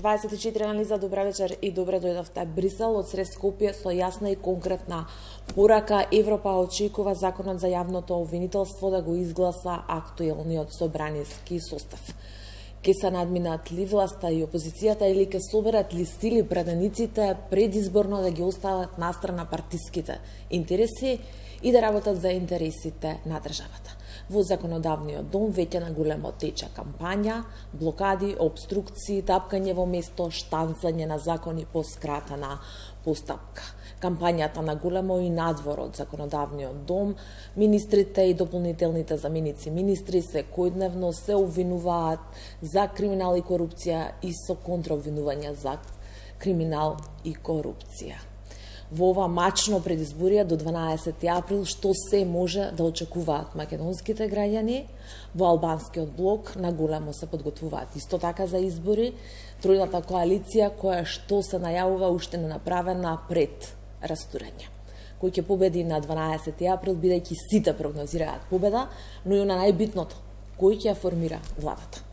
24 анализа, добра вечер и добре дојдовте. Брисел од сред Скопје со јасна и конкретна порака. Европа очекува законот за јавното обвинителство да го изгласа актуелниот собраниски состав. Ке се надминат ли власта и опозицијата или ке соберат ли стили пратениците предизборно да ги остават настрана партиските интереси и да работат за интересите на државата. Во законодавниот дом веќе на големо тече кампања, блокади, обструкции, тапкање во место, штанцање на закони по скратена постапка. Кампањата на големо и надвор од законодавниот дом, министрите и дополнителните заменици министри секојдневно се обвинуваат за криминал и корупција и со контраобвинувања за криминал и корупција. Во ова мачно предизборие до 12 април што се може да очекуваат македонските граѓани? Во албанскиот блок на големо се подготвуваат исто така за избори. Тројната коалиција која што се најавува уште не направена пред растурање. Кој ќе победи на 12 април, бидејќи сите прогнозираат победа, но и на најбитното, кој ќе ја формира владата.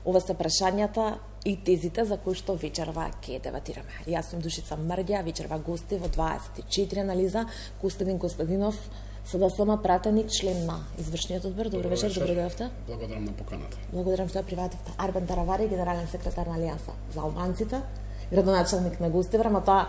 Ова се прашањата и тезите за кои што вечерва ќе дебатираме. Јас сум Душица Мрѓа, вечерва гости во 24 анализа, Костадин Костадинов, СДСМ пратеник, член на извршниот одбор. Добро вечер, добро дојдовте. Благодарам на поканата. Благодарам што ја привативте. Арбен Таравари, генерален секретар на Алијанса за албанците, градоначалник на Гостивар, ама тоа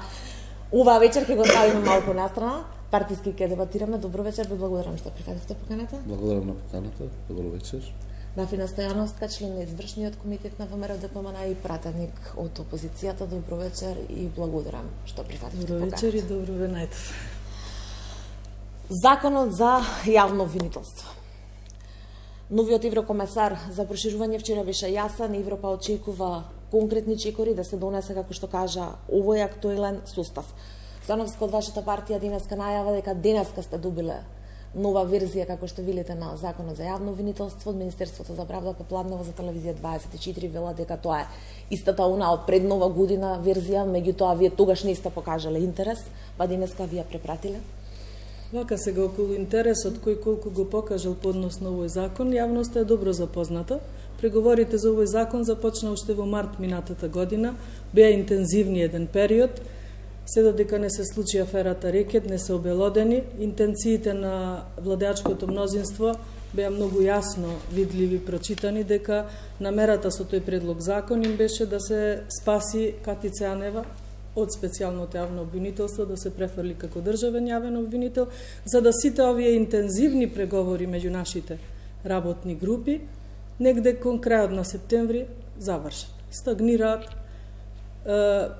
оваа вечер ќе го ставиме малку настрана. Партиски ќе дебатираме. Добро вечер, ви благодарам што прифативте поканата. Благодарам на поканата. Добро вечер. Дафина Стојановска, член на извршниот комитет на ВМРО ДПМН и пратеник од опозицијата. Добро вечер и благодарам што прифативте поканата. Добро вечер и добро ве најдов. Законот за јавно обвинителство. Новиот еврокомесар за проширување вчера беше јасен. Европа очекува конкретни чекори да се донесе, како што кажа, овој актуелен состав. Стојановска, од вашата партија денеска најава дека денеска сте добиле нова верзија, како што видите, на Законот за јавно обвинителство од Министерството за правда попладнево за телевизија 24 вела дека тоа е истата она од пред нова година верзија, меѓутоа вие тогаш не сте покажале интерес, па денеска ви ја препратиле. Вака сега околу интересот кој колку го покажал поднос на овој закон, јавноста е добро запозната. Преговорите за овој закон започна уште во март минатата година, беа интензивни еден период. Се додека не се случи аферата Рекет, не се обелодени, интенциите на владеачкото мнозинство беа многу јасно видливи, прочитани, дека намерата со тој предлог закон им беше да се спаси Катица Јанева од специјалното јавно обвинителство, да се префрли како државен јавен обвинител, за да сите овие интензивни преговори меѓу нашите работни групи негде кон крајот на септември завршат. Стагнираат.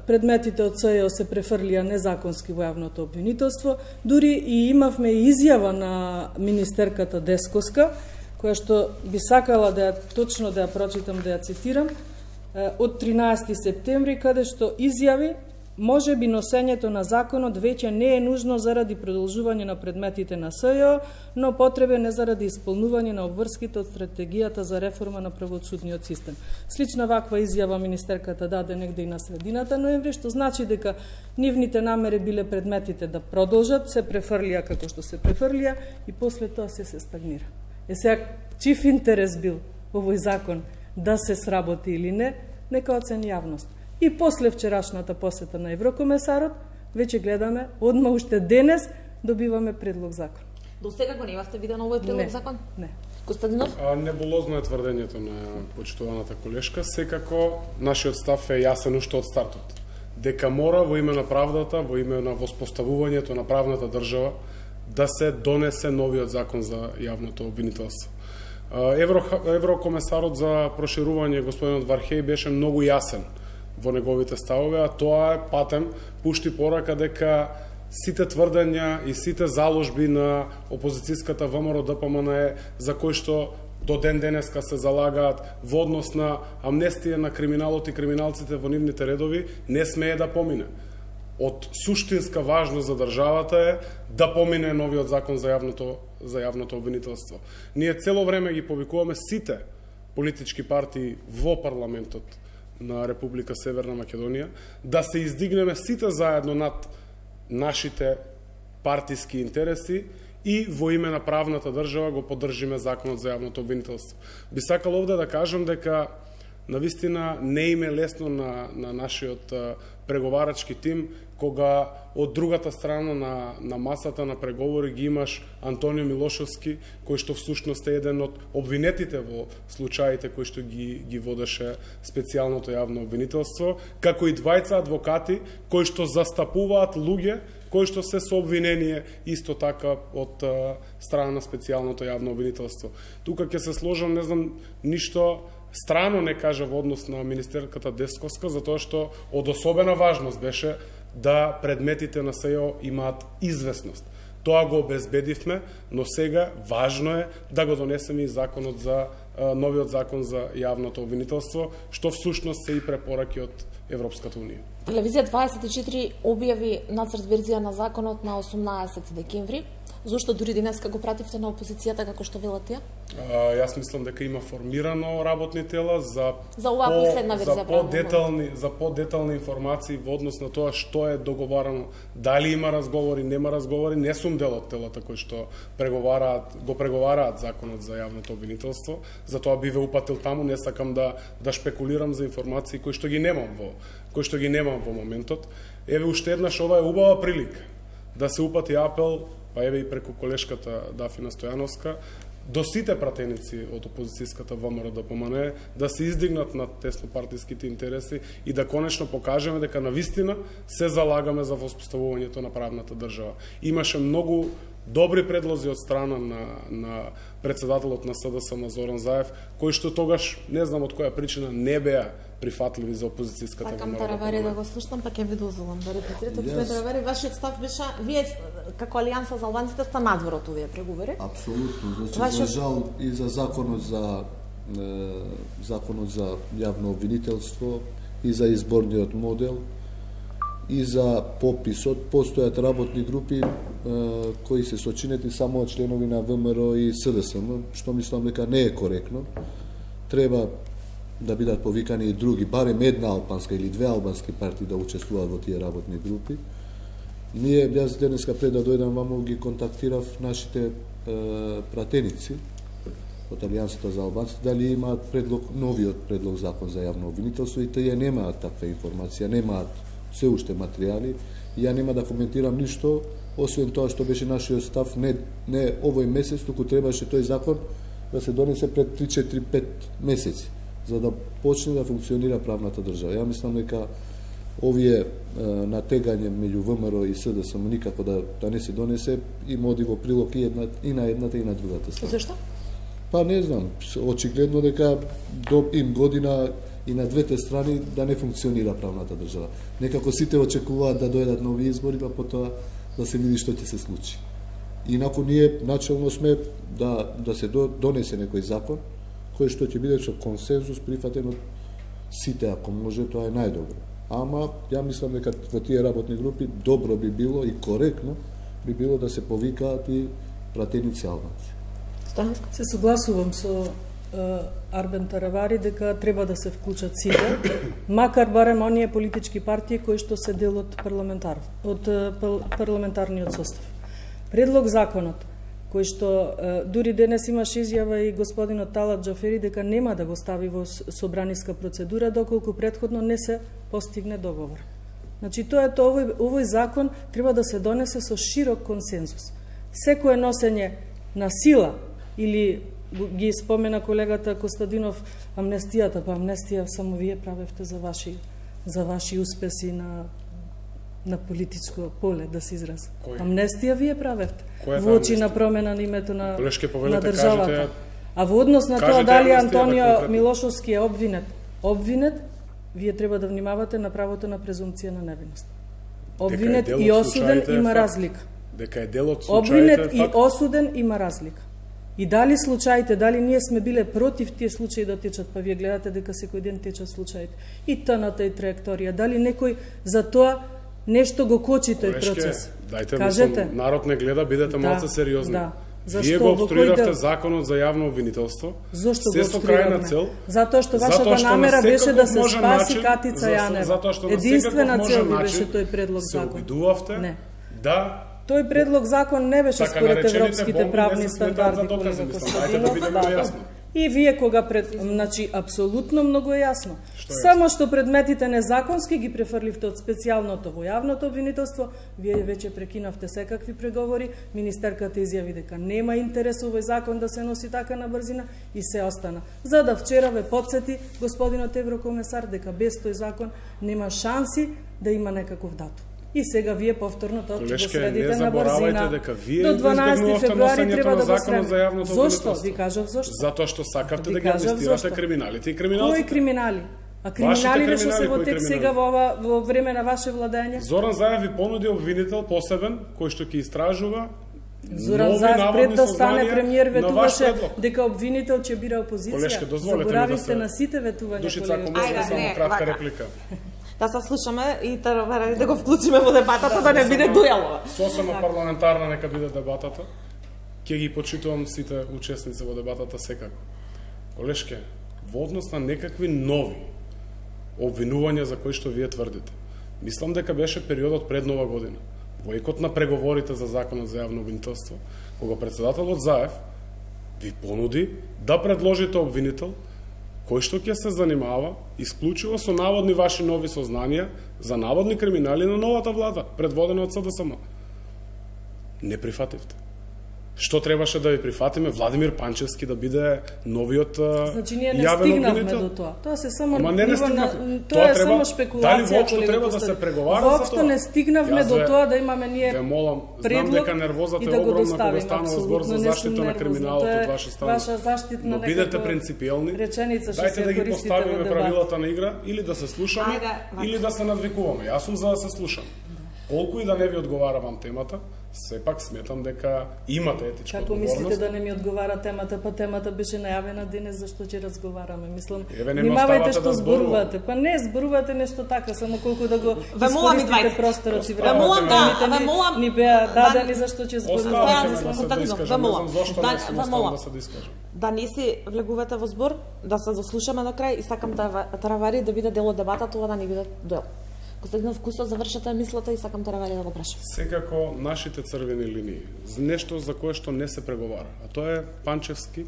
Предметите од СЈО се префрлија незаконски во јавното обвинителство. Дури и имавме изјава на министерката Дескоска, која што би сакала да ја точно да ја прочитам, да ја цитирам, од 13 септември, каде што изјави: може би носењето на законот веќе не е нужно заради продолжување на предметите на СЈО, но потребен е заради исполнување на обврските од стратегијата за реформа на правосудниот систем. Слична ваква изјава министерката даде негде и на средината ноември, што значи дека нивните намери биле предметите да продолжат, се префрлија како што се префрлија и после тоа се стагнира. Сега, чив интерес бил овој закон да се сработи или не, нека оцени јавност. И после вчерашната посета на еврокомесарот, веќе гледаме, одма уште денес добиваме предлог закон. До сега го немавте виден овој предлог закон? Не. Костадинов? Небулозно е тврдењето на почитуваната колешка. Секако, нашиот став е јасен уште од стартот. Дека мора во име на правдата, во име на воспоставувањето на правната држава, да се донесе новиот закон за јавното обвинителство. Еврокомесарот за проширување, господинот Вархеј, беше многу јасен во неговите ставови, а тоа е патем пушти порака дека сите тврдења и сите заложби на опозицијската ВМРО ДПМН за кои што до ден денеска се залагаат во однос на амнестија на криминалот и криминалците во нивните редови, не смее да помине. Од суштинска важност за државата е да помине новиот закон за јавното обвинителство. Ние цело време ги повикуваме сите политички партии во парламентот на Република Северна Македонија да се издигнеме сите заедно над нашите партиски интереси и во име на правната држава го поддржиме законот за јавното обвинителство. Би сакал овде да кажам дека навистина не им е лесно на нашиот преговарачки тим, кога од другата страна на масата на преговори ги имаш Антонио Милошовски, кој што всушност е еден од обвинетите во случаите кои што ги водеше специјалното јавно обвинителство, како и двајца адвокати кои што застапуваат луѓе кои што се со обвинение исто така од страна на специјалното јавно обвинителство. Тука ќе се сложам, не знам, ништо страно не кажа во однос на министерката Десковска, затоа што од особена важност беше да предметите на СЈО имаат известност. Тоа го обезбедивме, но сега важно е да го донесеме и законот за новиот закон за јавното обвинителство, што всушност се и препораки од Европската унија. Телевизија 24 објави нацрт верзија на законот на 18 декември. Зошто дури денеска го пративте на опозицијата како што велат тие? Јас мислам дека има формирано работни тела за оваа последна верзија, за подетални информации во однос на тоа што е договарано, дали има разговори, нема разговори. Не сум дел од телата кои што го преговараат законот за јавното обвинителство, затоа би ве упатил таму, не сакам да шпекулирам за информации кои што ги немам во моментот. Еве уште еднаш, ова е убава прилика да се упати апел, па еве и преку колешката Дафина Стојановска, до сите пратеници од опозицијската ВМРО ДПМН да се издигнат над теснопартиските интереси и да конечно покажеме дека навистина се залагаме за воспоставувањето на правната држава. Имаше многу добри предлози од страна на председателот на СДСМ Зоран Заев, кои што тогаш, не знам од која причина, не беа прифатливи за опозицијската ВМРО. Сакам Таравари да го слушам, па ќе ви дозволам да репетирате. Господин Таравари, вашиот став беше, вие како Алијанса за албанците сте надвор од овие преговори? Апсолутно. Значи, за жал и за законот за јавно обвинителство, и за изборниот модел, и за пописот, постојат работни групи кои се сочинети само од членови на ВМРО и СДСМ, што мислам дека не е коректно. Треба да бидат повикани и други, барем една албанска или две албански партии да учествуваат во тие работни групи. Јас денеска пред да дојдам ваму ги контактирав нашите пратеници од Алијансата за албанците, дали имаат новиот предлог закон за јавно обвинителство, и тие немаат таква информација, немаат се уште материјали. Ја нема да коментирам ништо, освен тоа што беше нашиот став, не овој месец, туку требаше тој закон да се донесе пред 3-4-5 месеци, за да почне да функционира правната држава. Ја мислам дека овие натегање меѓу ВМРО и СДСМ никако да не се донесе, има оди во прилог и на едната и на другата страна. Зашто? Па не знам, очигледно дека им година и на двете страни да не функционира правната држава. Некако сите очекуваат да дојдат нови избори, па потоа да се види што ќе се случи. Инаку ние начелно сме да се донесе некој закон кој што ќе биде со консензус прифатен од сите, ако може, тоа е најдобро. Ама ја мислам дека во тие работни групи добро би било и коректно би било да се повикаат и пратеници албанци. Се согласувам со Арбен Таравари дека треба да се вклучат сите, макар барем оние политички партии кои што се дел од парламентарниот состав. Предлог законот, кој што дури денес имаше изјава и господинот Талат Џафери дека нема да го стави во собраниска процедура доколку претходно не се постигне договор. Значи тоа овој закон треба да се донесе со широк консензус. Секое носење на сила или ги спомена колегата Костадинов амнестијата, па амнестија само вие правевте за ваши успеси на политичко поле, да се изрази. Амнестија вие правевте во очи на промена на името на државата. А во однос на тоа дали Антонио Милошовски е обвинет, вие треба да внимавате на правото на презумпција на невиност. Обвинет и осуден има разлика. Дека е дел од случаите. Обвинет и осуден има разлика. И дали случаите, дали ние сме биле против тие случаи да течат, па вие гледате дека секој ден течат случаите. И ТНТ и траекторија, дали некој за тоа нешто го кочи тој процес? Кажете. Мислам, народ не гледа, бидете малце сериозни. Вие го обструиравте законот за јавно обвинителство. Зошто го обструиравме? Затоа што вашата намера беше да се спаси Катица Јанева. Единствена цел ви беше тој предлог закон. Се обидувавте да тој предлог закон не беше според европските правни стандарди, колега Костадинов. И вие кога значи апсолутно многу е јасно. Само што предметите незаконски ги префрливте од специјалното во јавното обвинителство, вие веќе прекинавте секакви преговори, министерката изјави дека нема интерес овој закон да се носи така на брзина и се остана. За да вчера ве потсети господинот еврокомесар дека без тој закон нема шанси да има некаков датум. И сега вие повторно тоа ќе го следите на брзина. До 12 февруари треба да го средите. Зошто? Ви кажав зошто. Затоа што сакавте да ги амнестирате криминалите и криминалците. Кои криминали? А криминалите што се во тек сега во време на ваше владење? Зоран Заев ви понуди обвинител посебен кој што ќе истражува. Зоран Заев пред да стане премиер ветуваше дека обвинител ќе бира опозиција. Заборавивте на сите ветувања. Душица, ако може само кратка реплика. Да се слушаме и да го вклучиме во дебатата, да не биде дуелова. Сосема парламентарна нека биде дебатата. Ќе ги почитувам сите учесници во дебатата секако. Колешке, во однос на некакви нови обвинувања за кои што вие тврдите, мислам дека беше периодот пред Нова година, во екот на преговорите за законот за јавно обвинителство, кога председателот Заев ви понуди да предложите обвинител кој што ќе се занимава исклучиво со наводни ваши нови сознанија за наводни криминали на новата влада, предводена од СДСМ. Не прифативте. Што требаше да ви прифатиме? Владимир Панчевски да биде новиот значи, ние не стигнавме до тоа. Тоа се само тоа е само спекулација. Дали воопшто треба да се преговара за тоа? Воопшто не стигнавме до тоа да имаме ние предлог. Знам дека нервозата е огромна кога станува збор за заштита на криминалот од ваша страна. Ваша заштитна но бидете принципиелни. Дајте да ги поставиме правилата на игра или да се слушаме или да се надвикуваме. Јас сум за да се слушам. Колку и да не ви одговаравам темата, сепак сметам дека имате етичка одговорност. Како мислите да не ми одговара темата, па темата беше најавена денес зашто ќе разговараме. Мислам, внимавајте што зборувате. Па не зборувате нешто така, само колку да го искористите просторот и времето. Ни беа дадени зашто ќе зборуваме. Да не си влегувате во збор, да се заслушаме до крај и сакам Таравари да биде дел од дебата, тоа да не биде дуел. Господинов Кусо, завршете мислата и сакам Таравари да го прашам. Секако нашите црвени линии, нешто за кое што не се преговара, а тоа е Панчевски,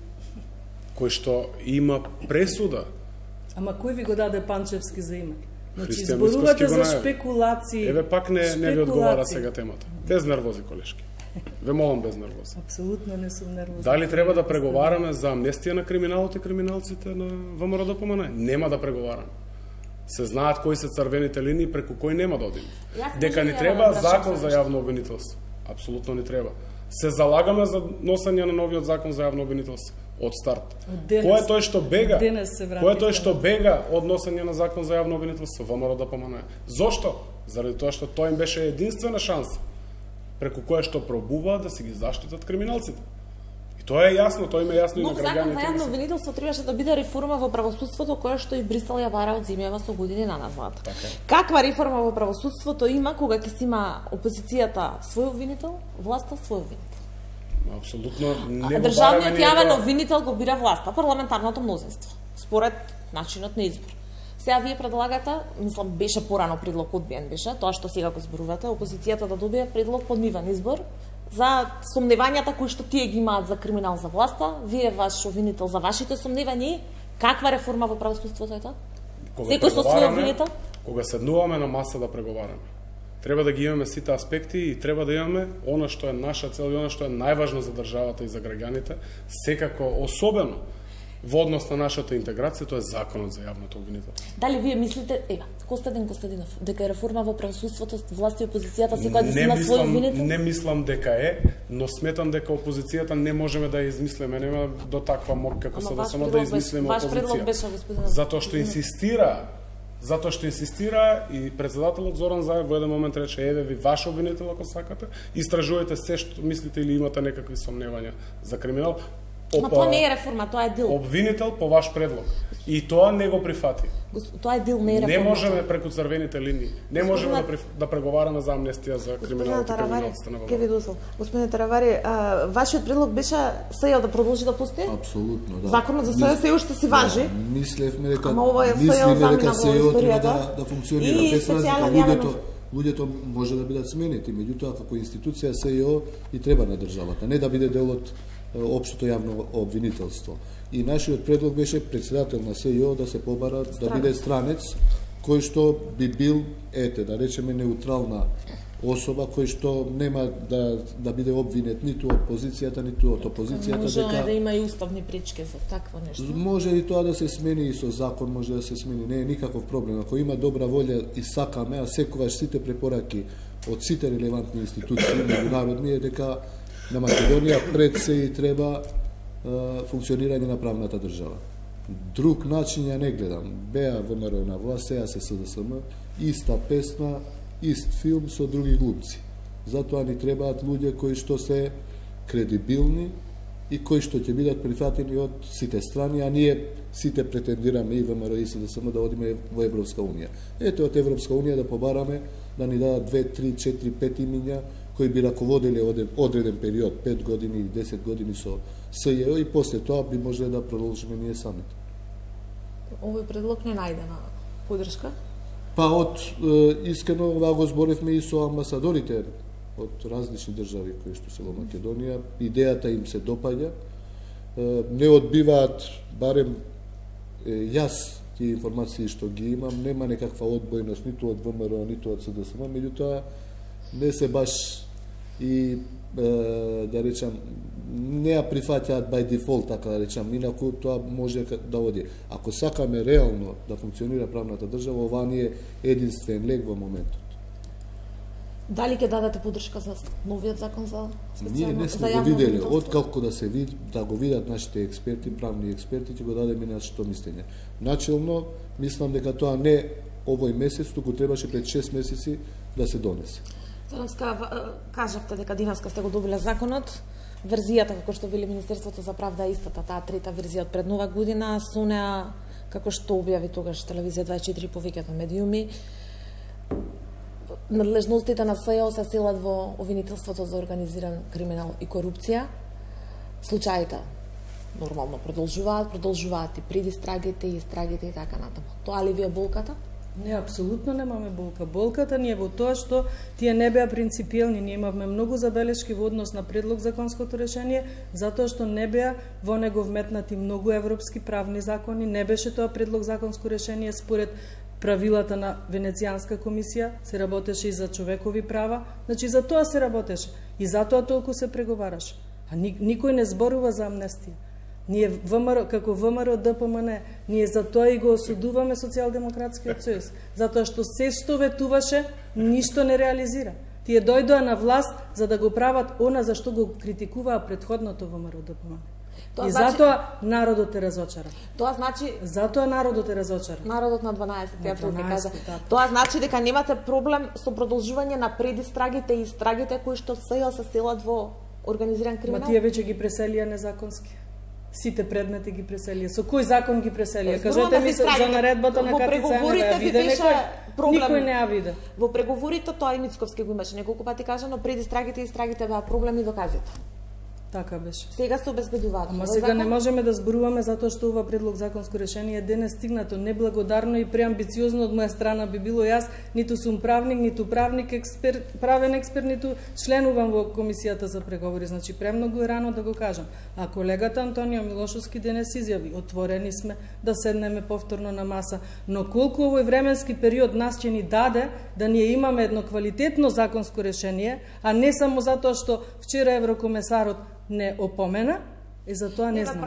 кој што има пресуда. Ама кој ви го даде Панчевски за име? Значи, зборувате за шпекулации. Еве пак не ви одговара сега темата. Без нервози, колешки. Ве молам без нервози. Апсолутно не сум нервозна. Дали треба да преговараме за амнестија на криминалот и криминалците на ВМРО ДПМН? Нема да преговараме. Се знаат кои се црвените линии преку кои нема да одиме. Дека ни треба закон за јавно обвинителство. Апсолутно ни треба. Се залагаме за носење на новиот закон за јавно обвинителство од старт. Кој е тој што бега? Кој е тој што бега од носење на закон за јавно обвинителство? ВМРО ДПМН. Зошто? Заради тоа што тој им беше единствена шанса преку која што пробува да си ги заштитат криминалците. Тоа е јасно, тоа има јасно и на граѓаните. Но закон за јавно обвинителство требаше да биде реформа во правосудството која што и Брисел ја бара од зимјава со години на назад. Каква реформа во правосудството има кога ќе има опозицијата свој обвинител, власта свој обвинител? Апсолутно не го државниот јавен обвинител го бира власта, парламентарното мнозинство, според начинот на избор. Сега вие предлагате, мислам беше порано предлог одбиен беше, тоа што сега го зборувате, опозицијата да добие предлог подмиван избор за сомневањата кои што тие ги имаат за криминал за власта, вие ваш обвинител за вашите сомневања, каква реформа во правосудството е тоа? Секој со свој обвинител? Кога седнуваме на маса да преговараме, треба да ги имаме сите аспекти и треба да имаме она што е наша цел и она што е најважно за државата и за граѓаните, секако особено во однос на нашата интеграција, тоа е законот за јавното обвинителство. Дали вие мислите, Костадин Костадинов, дека е реформа во правосудството, власт и опозицијата секој да си има свој обвинител? Не мислам дека е, но сметам дека опозицијата не можеме да ја измислиме, нема до таква мок како СДСМ да измислиме опозиција. Ваш предлог беше, господин. Затоа што инсистира и председателот Зоран Заев во еден момент рече, еве ви ваш обвинител ако сакате, истражувајте се што мислите или имате некакви сомневања за криминал. Но тоа не е реформа, тоа е дил. Обвинител по ваш предлог. И тоа не го прифати. Тоа е дил, не е реформа. Не можеме преку црвените линии. Не можеме да преговараме за амнестија за криминалот и криминалците на ВМРО. Господин Таравари, вашиот предлог беше СЈО да продолжи да постои? Апсолутно, да. Законот за СЈО се уште си важи. Мислевме дека СЈО треба да функционира. Без разлика луѓето може да бидат сменети, меѓутоа како институција СЈО и треба на државата, не да биде дел од општото јавно обвинителство. И нашиот предлог беше председател на СЈО да се побара да биде странец кој што би бил, да речеме, неутрална особа кој што нема да биде обвинет ниту од позицијата, ниту од опозицијата. Може да има и уставни пречки за такво нешто. Може и тоа да се смени и со закон, може да се смени, не е никаков проблем. Ако има добра волја и сакаме, а секогаш сите препораки од сите релевантни институции меѓународни е дека на Македонија пред се и треба функционирање на правната држава. Друг начин ја не гледам. Беа ВМРО на власт, сега се СДСМ, иста песна, ист филм со други глумци. Затоа ни требаат луѓе кои што се кредибилни и кои што ќе бидат прифатени од сите страни, а ние сите претендираме и ВМРО и СДСМ да одиме во Европска унија. Ете од Европска унија да побараме да ни дадат 2, 3, 4, 5 имиња кои би раководели одреден период, 5 години или 10 години со СЈО и после тоа би можеле да продолжиме ние самите. Овој предлог не најде на поддршка? Па искрено ова го зборевме и со амбасадорите од различни држави кои што се во Македонија. Идејата им се допаѓа. Не одбиваат, барем јас тие информации што ги имам, нема некаква одбојност ниту од ВМРО, ниту од СДСМ, меѓутоа не се баш и да речам не ја прифаќаат by default, така да речам, инаку тоа може да оди. Ако сакаме реално да функционира правната држава, ова ни е единствен лек во моментот. Дали ќе дадете поддршка за новиот закон за специјално? Ние не сме го виделе, откако да го видат нашите експерти, правни експерти, ќе го дадеме нашето мислење. Начелно, мислам дека тоа не овој месец, туку требаше пред 6 месеци да се донесе. Цаневска, кажавте дека динеска сте го добиле законот. Верзијата, како што вели Министерството за правда, е истата, таа трета верзија од пред нова година, со неа, како што објави тогаш Телевизија 24 повеќето медиуми, надлежностите на СЈО се селат во обвинителството за организиран криминал и корупција. Случаите нормално продолжуваат и пред истрагите и така натаму. Тоа ли ви е болката? Не, апсолутно немаме болка. Болката ни е во тоа што тие не беа принципиелни. Ние имавме многу забелешки во однос на предлог законското решение, затоа што не беа во него вметнати многу европски правни закони, не беше тоа предлог законско решение според правилата на Венецијанска комисија, се работеше и за човекови права, значи за тоа се работеше и затоа толку се преговараше. А никој не зборува за амнестија. Ние како ВМРО ДПМН, ние за тоа и го осудуваме Социјалдемократскиот сојуз, затоа што се што ветуваше, ништо не реализира. Тие дојдоа на власт за да го прават она за што го критикуваа претходното ВМРО ДПМН. И затоа народот е разочаран. Тоа значи затоа народот е разочаран. Народот на 12 април ќе кажа. Тоа значи дека немате проблем со продолжување на предистрагите и истрагите кои што СЈО се селат во организиран криминал. Ма тие веќе ги преселија незаконски. Сите предмети ги преселија. Со кој закон ги преселија? Кажете ми за наредбата на Катицанова, виде никој не ја виде. Во преговорите тоа и Мицковски го имаше неколку пати кажано, предистрагите и истрагите беа проблеми и доказите. Така беше. Сега се обезбедуваат. Ама сега не можеме да зборуваме затоа што ова предлог законско решение денес стигнато неблагодарно и преамбициозно од моја страна би било. Јас ниту сум правник, ниту правен експерт, ниту членувам во комисијата за преговори, значи премногу е рано да го кажам. А колегата Антонио Милошовски денес изјави: отворени сме да седнеме повторно на маса, но колку овој временски период нас ќе ни даде да ние имаме едно квалитетно законско решение, а не само затоа што вчера еврокомесарот не опомена, и за тоа не знам.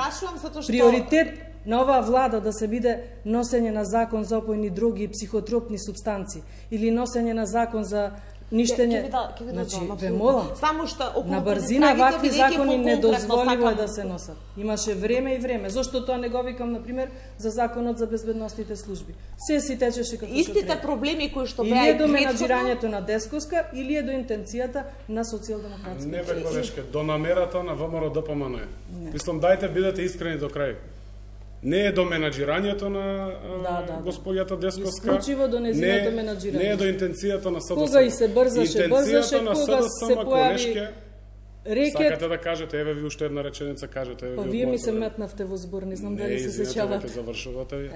Приоритет на оваа влада да се биде носење на закон за опојни дроги и психотропни супстанции или носење на закон за ништење. Значи, ве молам, само што на брзина вакви закони недозволиво да се носат. Имаше време и време. Зошто тоа не го викам, например, за законот за безбедносните служби? Се си течеше како што истите треба. Проблеми кои што беа или е до менаџирањето на Десковска, или е до интенцијата на Социјалдемократскиот. Не бе, колешке, до намерата на ВМРО ДПМН. Мислам, дајте бидете искрени до крај. Не е до менаџирањето на господјата Десковска. Исклучиво до незиното менаџирање. Не е до интенцијата на СДСМ. Кога и се брзаше, кога се појави рекет. Сакате да кажете, еве ви уште една реченица, кажете. Еве вие ми се метнавте во збор, не знам дали се сеќавате. Не, завршувате ви.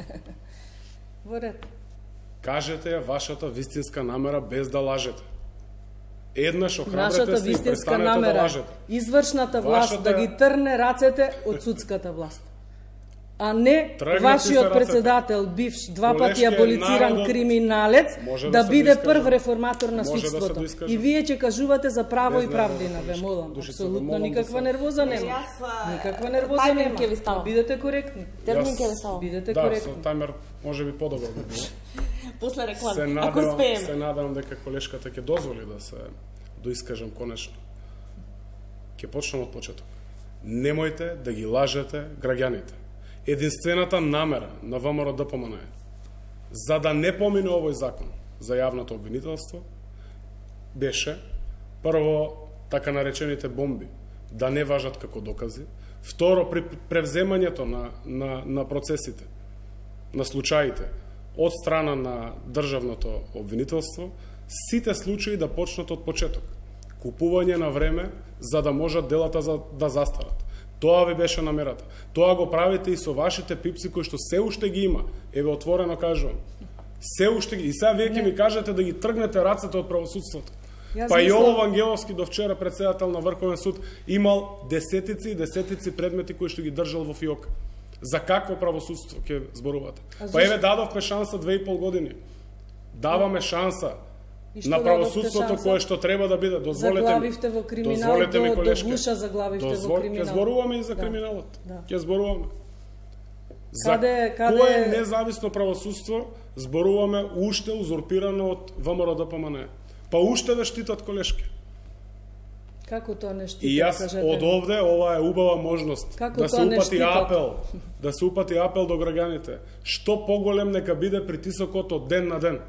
Во ред. Кажете ја вашата вистинска намера без да лажете. Еднаш охрабрете Нашата се и вистинска престанете да намера, лажете. извршната власт да ги трне рацете од судската власт. А не Тргнати вашиот се председател, бивш, два пати Колешке, аболициран народот криминалец, може да се биде доискаже. прв реформатор на Може да се судството. доискаже. И вие ќе кажувате за право Без и правдина, ве молам. Души се, Апсолутно молам никаква да се- нервоза нема. Никаква нервоза тајминг нема. ќе ви става. Бидете коректни. Термин ќе ви става. Бидете Да, со коректни. тајмер може би подобро би било. После Се реклама. Ако надевам, успееме. се надевам дека колешката ќе дозволи да се доискажам конечно. Ќе почнам од почеток. Немојте да ги лажете граѓаните. Единствената намера на ВМРО ДПМН е за да не помине овој закон за јавното обвинителство беше прво така наречените бомби да не важат како докази, второ при превземањето на процесите, на случаите од страна на државното обвинителство, сите случаи да почнат од почеток. Купување на време за да можат делата да застарат. Тоа ви беше намерата. Тоа го правите и со вашите пипси кои што се уште ги има. Еве отворено кажувам. Се уште ги. И сега вие ќе ми кажете да ги тргнете рацете од правосудството. Па и Јово Вангеловски до вчера председател на Врховен суд имал десетици и десетици предмети кои што ги држал во фиока. За какво правосудство ќе зборувате? Па еве дадовме шанса 2,5 години. Даваме шанса на правосудството кое што треба да биде. Заглавивте во криминал, до гуша заглавивте во криминал. Ќе зборуваме и за криминалот. Ќе зборуваме. Каде кое независно правосудство зборуваме уште узурпирано од ВМРО ДПМН? Па уште ве штитат колешки. Како тоа не штитат? И јас од овде, ова е убава можност да се упати апел, да се упати апел до граѓаните. Што поголем нека биде притисокот од ден на ден.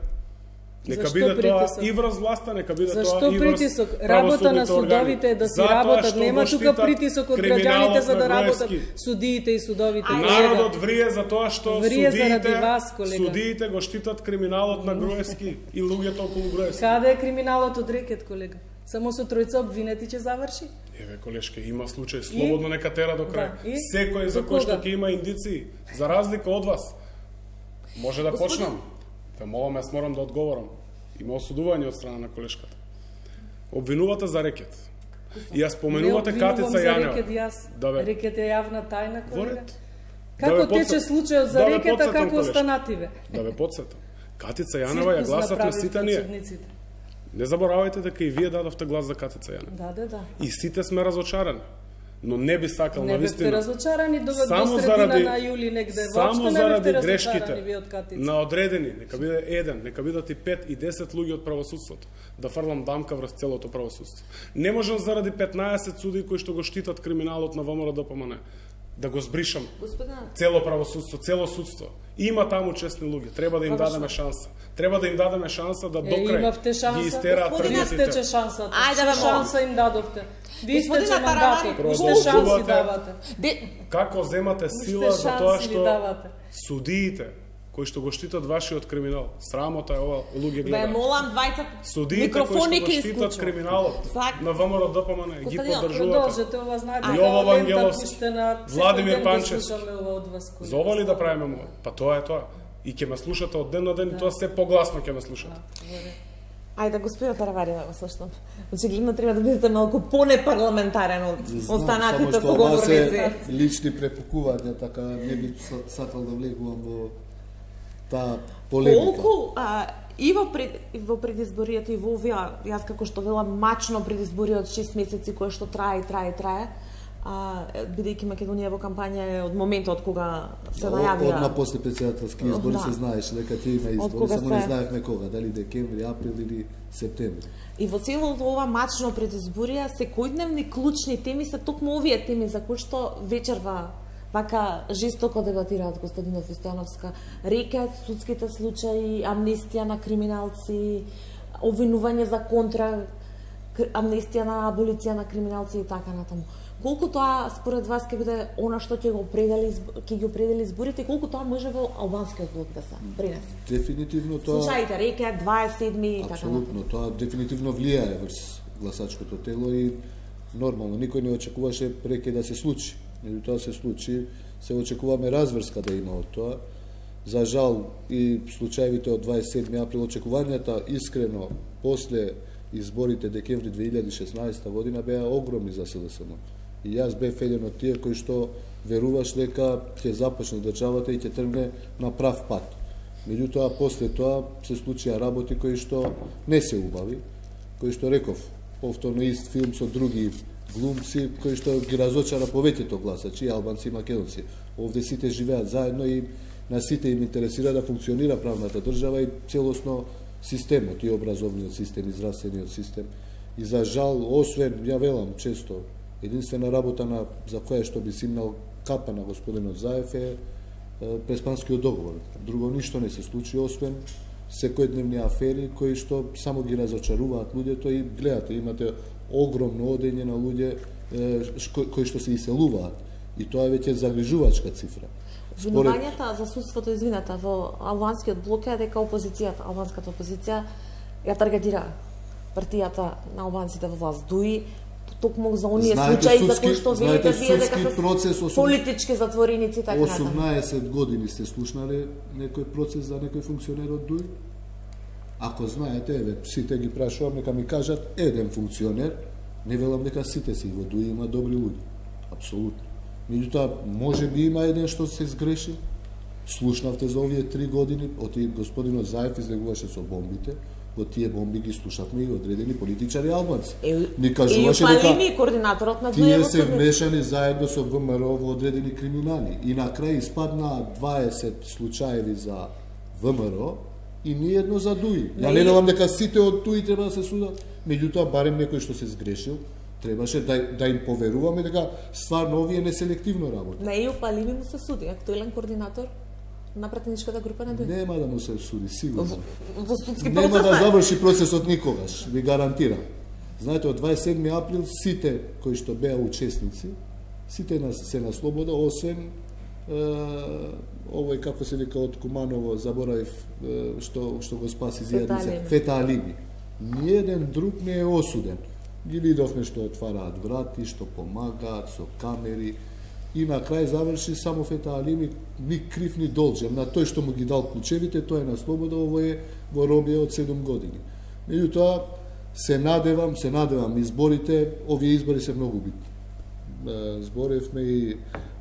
Нека биде тоа и врз власта, нека биде тоа и врз притисок? Работа на судовите е да си работат, нема тука притисок од граѓаните за да работат судиите и судовите. Народот врие за тоа што судиите го штитат криминалот на Груевски и луѓето околу Груевски. Каде е криминалот од рекет, колега? Само со тројца обвинети ќе заврши? Еве, колешке, има случај, слободно нека тера до крај. Секој за кој што ќе има индиции, за разлика од вас. Може да почнам. Ве молам, јас морам да одговорам. Има осудување од страна на колешката. Обвинувате за рекет. И ја споменувате Катица Јанева. Рекет е јавна тајна, колега. Како тече случајот за рекета, како останативе? Да ве подсетам. Катица Јанева ја гласат на сите ние. Не заборавајте дека и вие дадовте глас за Катица Јанева. Да. И сите сме разочарани. Но не би сакал на вистина. Не бевте разочарани до средина на јули негде. Само заради грешките на одредени, нека биде еден, нека бидат и 5 и 10 луѓе од правосудството, да фрлам дамка врз целото правосудство. Не можам заради 15 суди кои што го штитат криминалот на ВМРО ДПМН да го збришам. Цело правосудство, цело судство. Има таму честни луѓе, треба да им дадеме шанса. Треба да им дадеме шанса да до крај ги истераат првите. Вие сте шансата. Шанса им дадовте. Ви сте че мандатот. Уште шанси давате. Како земате сила за тоа што судиите кои што го штитат вашиот криминал. Срамота е ова, луѓе гледаат. Ве молам двајца микрофони кои што го штитат криминалот на ВМРО ДПМН ги поддржувате. Продолжете, ова знаете. Јово Вангеловски, Владимир Панчевски. За ова ли да правиме ова? Па тоа е тоа. И ќе ме слушате од ден на ден и тоа се погласно ќе ме слушате. Ајде, господин Таравари, да го слушам. Очигледно треба да бидете малку понепарламентарен од останатите соговорници. Лични препукувања, така не би сакал да влегувам во таа полемика. Колку и во предизборието и во овие, јас како што велам, мачно предизбориот 6 месеци кое што трае, бидејќи Македонија во кампања е од моментот кога се најавија. Одма после председателски избори се знаеше дека ќе има избори, само не знаевме кога, дали декември, април или септември. И во целото ова мачно предизборија секојдневни клучни теми се токму овие теми за кои што вечерва вака жестоко дебатираат Костадинов и Стојановска. Рекет, судските случаи, амнестија на криминалци, обвинување за контра, амнестија на аболиција на криминалци и така натаму. Колку тоа според вас ќе биде она што ќе ги определи изборите и колку тоа може во албанскиот блок да се принесе? Дефинитивно тоа. Случаите рекет 27 и така натаму. Апсолутно, тоа дефинитивно влијае врз гласачкото тело и нормално никој не очекуваше рекет да се случи. Тоа се случи, се очекуваме разврска да има од тоа. За жал и случаевите од 27 април очекувањата искрено после изборите декември 2016 година беа огромни за СДСМ. И јас бев еден од тие кои што веруваш дека ќе започне државата и ќе тргне на прав пат. Меѓутоа, после тоа се случија работи кои што не се убави, кои што реков, повторно ист филм со други глумци, кои што ги разочара повеќето гласачи, албанци и македонци. Овде сите живеат заедно и на сите им интересира да функционира правната држава и целосно системот, и образовниот систем, и здравствениот систем. И за жал, освен, ја велам често, единствена работа за која што би симнал капа на господинот Заев е Преспанскиот договор. Друго ништо не се случи, освен секојдневни афери кои што само ги разочаруваат луѓето и гледате, имате огромно одење на луѓе кои што се иселуваат. И тоа е веќе загрижувачка цифра. Обвинувањата за судството, извинете, во албанскиот блок е дека опозицијата, албанската опозиција ја таргетира партијата на албанците во власт. Дуи токму за оние случаи за кои што велите вие дека се политички затвореници и така натаму. 18 години сте слушнале некој процес за некој функционер од ДУИ? Ако знаете, еве, сите ги прашувам, нека ми кажат еден функционер, не велам дека сите си во ДУИ има добри луѓе. Апсолутно. Меѓутоа, може би има еден што се сгреши. Слушнавте за овие 3 години, од господинот Заев излегуваше со бомбите, во тие бомби ги слушавме и одредени политичари албанци. Ни кажуваше дека координаторот на тие се вмешани заедно со ВМРО во одредени криминали. И на крај испадна 20 случаеви за ВМРО и ниедно за ДУИ. Ја не велам дека сите од ДУИ треба да се судат, меѓутоа барем некој што се сгрешил, требаше да им поверуваме дека стварно овие неселективно работи. На Ејуп Алими му се суди, актуелен координатор на пратеничката група на ДУИ. Нема да му се суди, сигурно. Во судски процес. Нема да заврши процесот никогаш, ви гарантирам. Знаете, од 27 април сите кои што беа учесници, сите се на слобода, освен овој, како се вика, од Куманово, заборавив, што го спаси зијадница, Фета Алими. Ниеден друг не е осуден. Ги видовме што отвараат врати, што помагаат со камери, и на крај заврши само Фета Алими, ни крив ни должен. На тој што му ги дал клучевите, тој е на слобода, ово е во робија од 7 години. Меѓутоа, се надевам, изборите, овие избори се многу битни. Зборевме и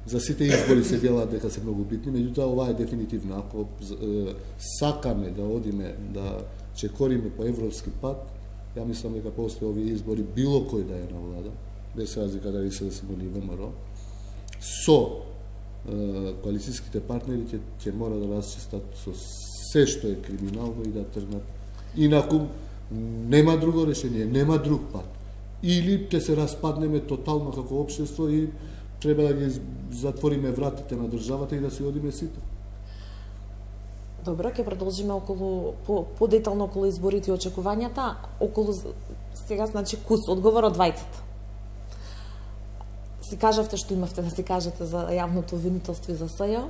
за сите избори се велат дека се многу битни, меѓутоа ова е дефинитивно. Ако сакаме да одиме, да чекориме по европски пат, ја мислам дека после овие избори било кој да е на влада, без разлика дали се да се гони ВМРО, со коалицијските партнери ќе мора да расчистат со се што е криминално и да тргнат. Инаку нема друго решение, нема друг пат. Или ќе се распаднеме тотално како општество и треба да ги затвориме вратите на државата и да се одиме сите. Добро, ќе продолжиме подетално околу изборите и очекувањата, околу сега, значи, кус, одговор од двајцата. Си кажавте што имавте да си кажете за јавното обвинителство и за СЈ.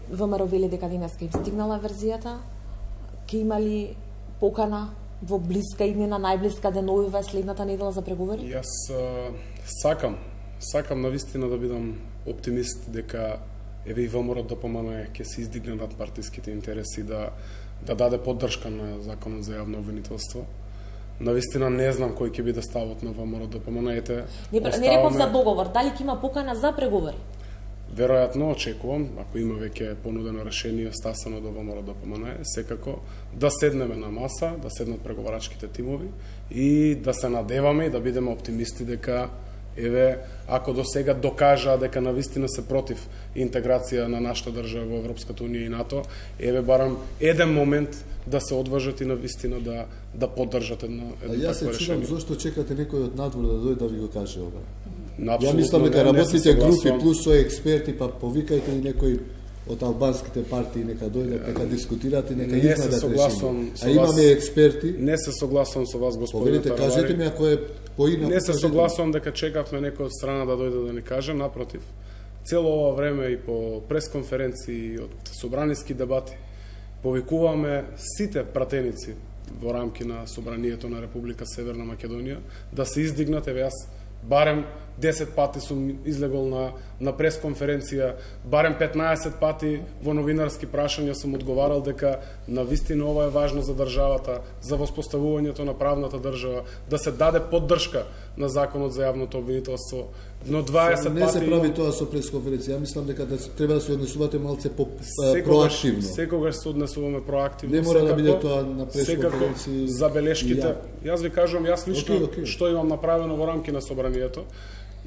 ВМРО вели дека денеска им стигнала верзијата. Ќе има ли покана во блиска иднина, најблиска деновива следната недела за преговори? Јас сакам навистина да бидам оптимист дека еве и ВМРО ДПМН ќе се издигне над партиските интереси да даде поддршка на законот за јавно обвинителство. Навистина не знам кој ќе биде ставот на ВМРО ДПМН. Не реков за договор, дали ќе има покана за преговори? Веројатно очекувам, ако има веќе понудено решение стасано до ВМРО ДПМН, секако да седнеме на маса, да седнат преговарачките тимови и да се надеваме и да бидеме оптимисти дека еве, ако до сега докажаа дека навистина се против интеграција на нашата држава во Европската унија и НАТО, еве барам еден момент да се одважат и навистина да поддржат едно такво решение. Јас се чудам зошто чекате некој од надвор да дојде да ви го каже ова. Ја мислам дека работните групи плюс со експерти, па повикајте и некој од албанските партии нека дојдат, нека дискутираат и нека изнадат решение. А имаме експерти. Не се согласувам со вас, господине Таравари. Повелите, кажете ми ако е поинак. Не се согласувам дека чекавме некој од страна да дојде да ни каже, напротив. Цело ова време и по пресконференции, од собраниски дебати, повикуваме сите пратеници во рамки на Собранието на Република Северна Македонија да се издигнат, еве јас барем 10 пати сум излегол на пресконференција, барем 15 пати во новинарски прашања сум одговарал дека навистина ова е важно за државата, за воспоставувањето на правната држава, да се даде поддршка на законот за јавното обвинителство. Но 20 не пати се прави тоа со пресконференција. Ја мислам дека треба да се однесувате малце проактивно. Секогаш се однесуваме проактивно. Не мора да биде тоа на пресконференција. Забелешките. Јас ви кажувам, јас лично што имам направено во рамки на собранието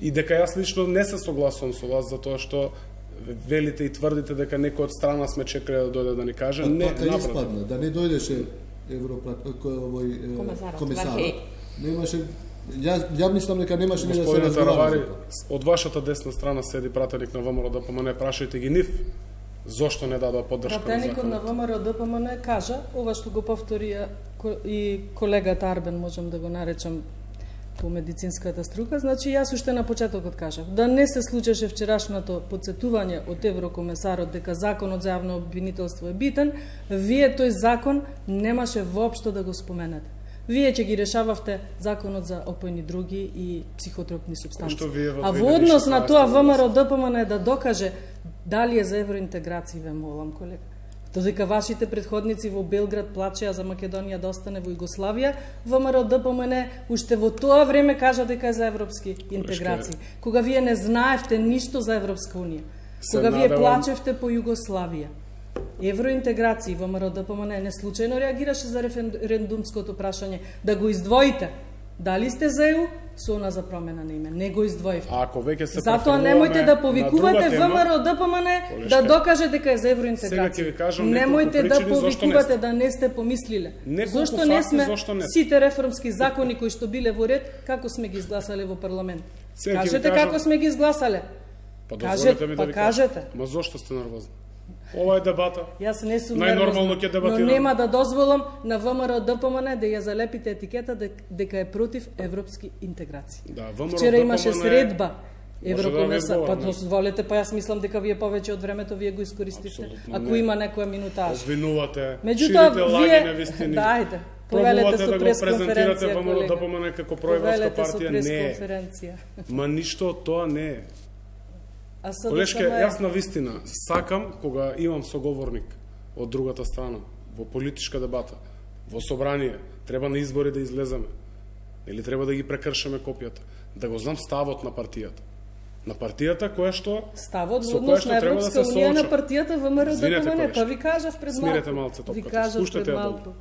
и дека јас лично не се согласувам со вас за тоа што велите и тврдите дека некој од страна сме чекале да дојде да ни каже. Не, испадна, да не дојдеше комесар. Немаше. Ја мислам дека немаше ни да се разговара. Од вашата десна страна седи пратеник на ВМРО ДПМН, прашајте ги нив зошто не дадоа поддршка на законот. Пратеникот на ВМРО ДПМН кажа, ова што го повтори и колегата Арбен, можам да го наречам по медицинската струка, значи јас уште на почетокот кажав, да не се случеше вчерашното подсетување од еврокомесарот дека законот за јавно обвинителство е битен, вие тој закон немаше воопшто да го споменете. Вие ќе ги решававте законот за опојни други и психотропни супстанции. А во однос на тоа ВМРО ДПМН да докаже дали е за евроинтеграција, ве молам, колега. Додека вашите предходници во Белград плачеа за Македонија да остане во Југославија, ВМРО ДПМН уште во тоа време кажа дека е за европски интеграции. Кога вие не знаевте ништо за Европска унија. Кога вие плачевте по Југославија. Евроинтеграција, ВМРО ДПМН не случајно реагираше за референдумското прашање да го издвоите. Дали сте за ЕУ? Со она за промена на име. Не го издвоивте. Ако веќе се затоа немојте да повикувате ВМРО ДПМН да докаже дека е за евроинтеграција. Немојте да повикувате да не сте помислиле. Зошто не сме сите реформски закони кои што биле во ред, како сме ги изгласале во парламент? Кажете како сме ги изгласале. Кажете. Ма зошто сте нервозни? Ова е дебата. Јас не сум најнормално ќе дебатирам. Но нема да дозволам на ВМРО ДПМН да ја залепите етикета дека е против европски интеграции. Да, ВМРО вчера имаше средба Еврокомесар, па дозволете, па јас мислам дека вие повеќе од времето вие го искористивте. Ако има некоја минутаж. Обвинувате, ширите лаги невистини. Дајте. Повелете со да го презентирате ВМРО ДПМН како проевропска партија, не. Ма ништо од тоа не е. Колешке, јас на вистина сакам кога имам соговорник од другата страна во политичка дебата, во собрание, треба на избори да излеземе или треба да ги прекршеме копијата, да го знам ставот на партијата. На партијата која што ставот во однос на Европска унија на партијата ВМРО ДПМН, па ви кажав пред малку. Смирете малце топката, спуштете ја долу.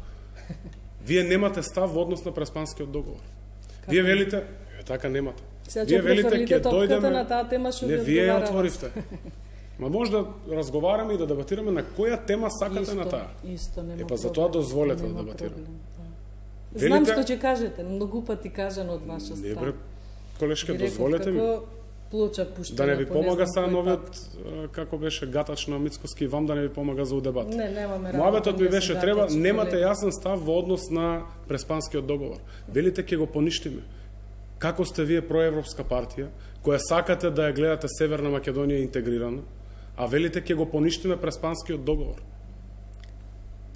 Вие немате став во однос на Преспанскиот договор. Вие велите, така немате. Вие велите ќе дојдеме на таа тема што не вие ја отворивте. Ма може да разговараме и да дебатираме на која тема сакате на таа. Исто, нема. Па затоа дозволете да дебатираме. Знам што ќе кажете, многу пати кажано од ваша страна. Не бре, колешке, дозволете ми. Плоча пуштена. Да не ви помага са новиот како беше гатач на Мицкоски, вам да не ви помага за дебат. Не, немаме работа. Муабетот ми беше треба, немате јасен став во однос на Преспанскиот договор. Велите ќе го поништиме. Како сте вие проевропска партија, која сакате да ја гледате Северна Македонија интегрирана, а велите ќе го поништиме Преспанскиот договор?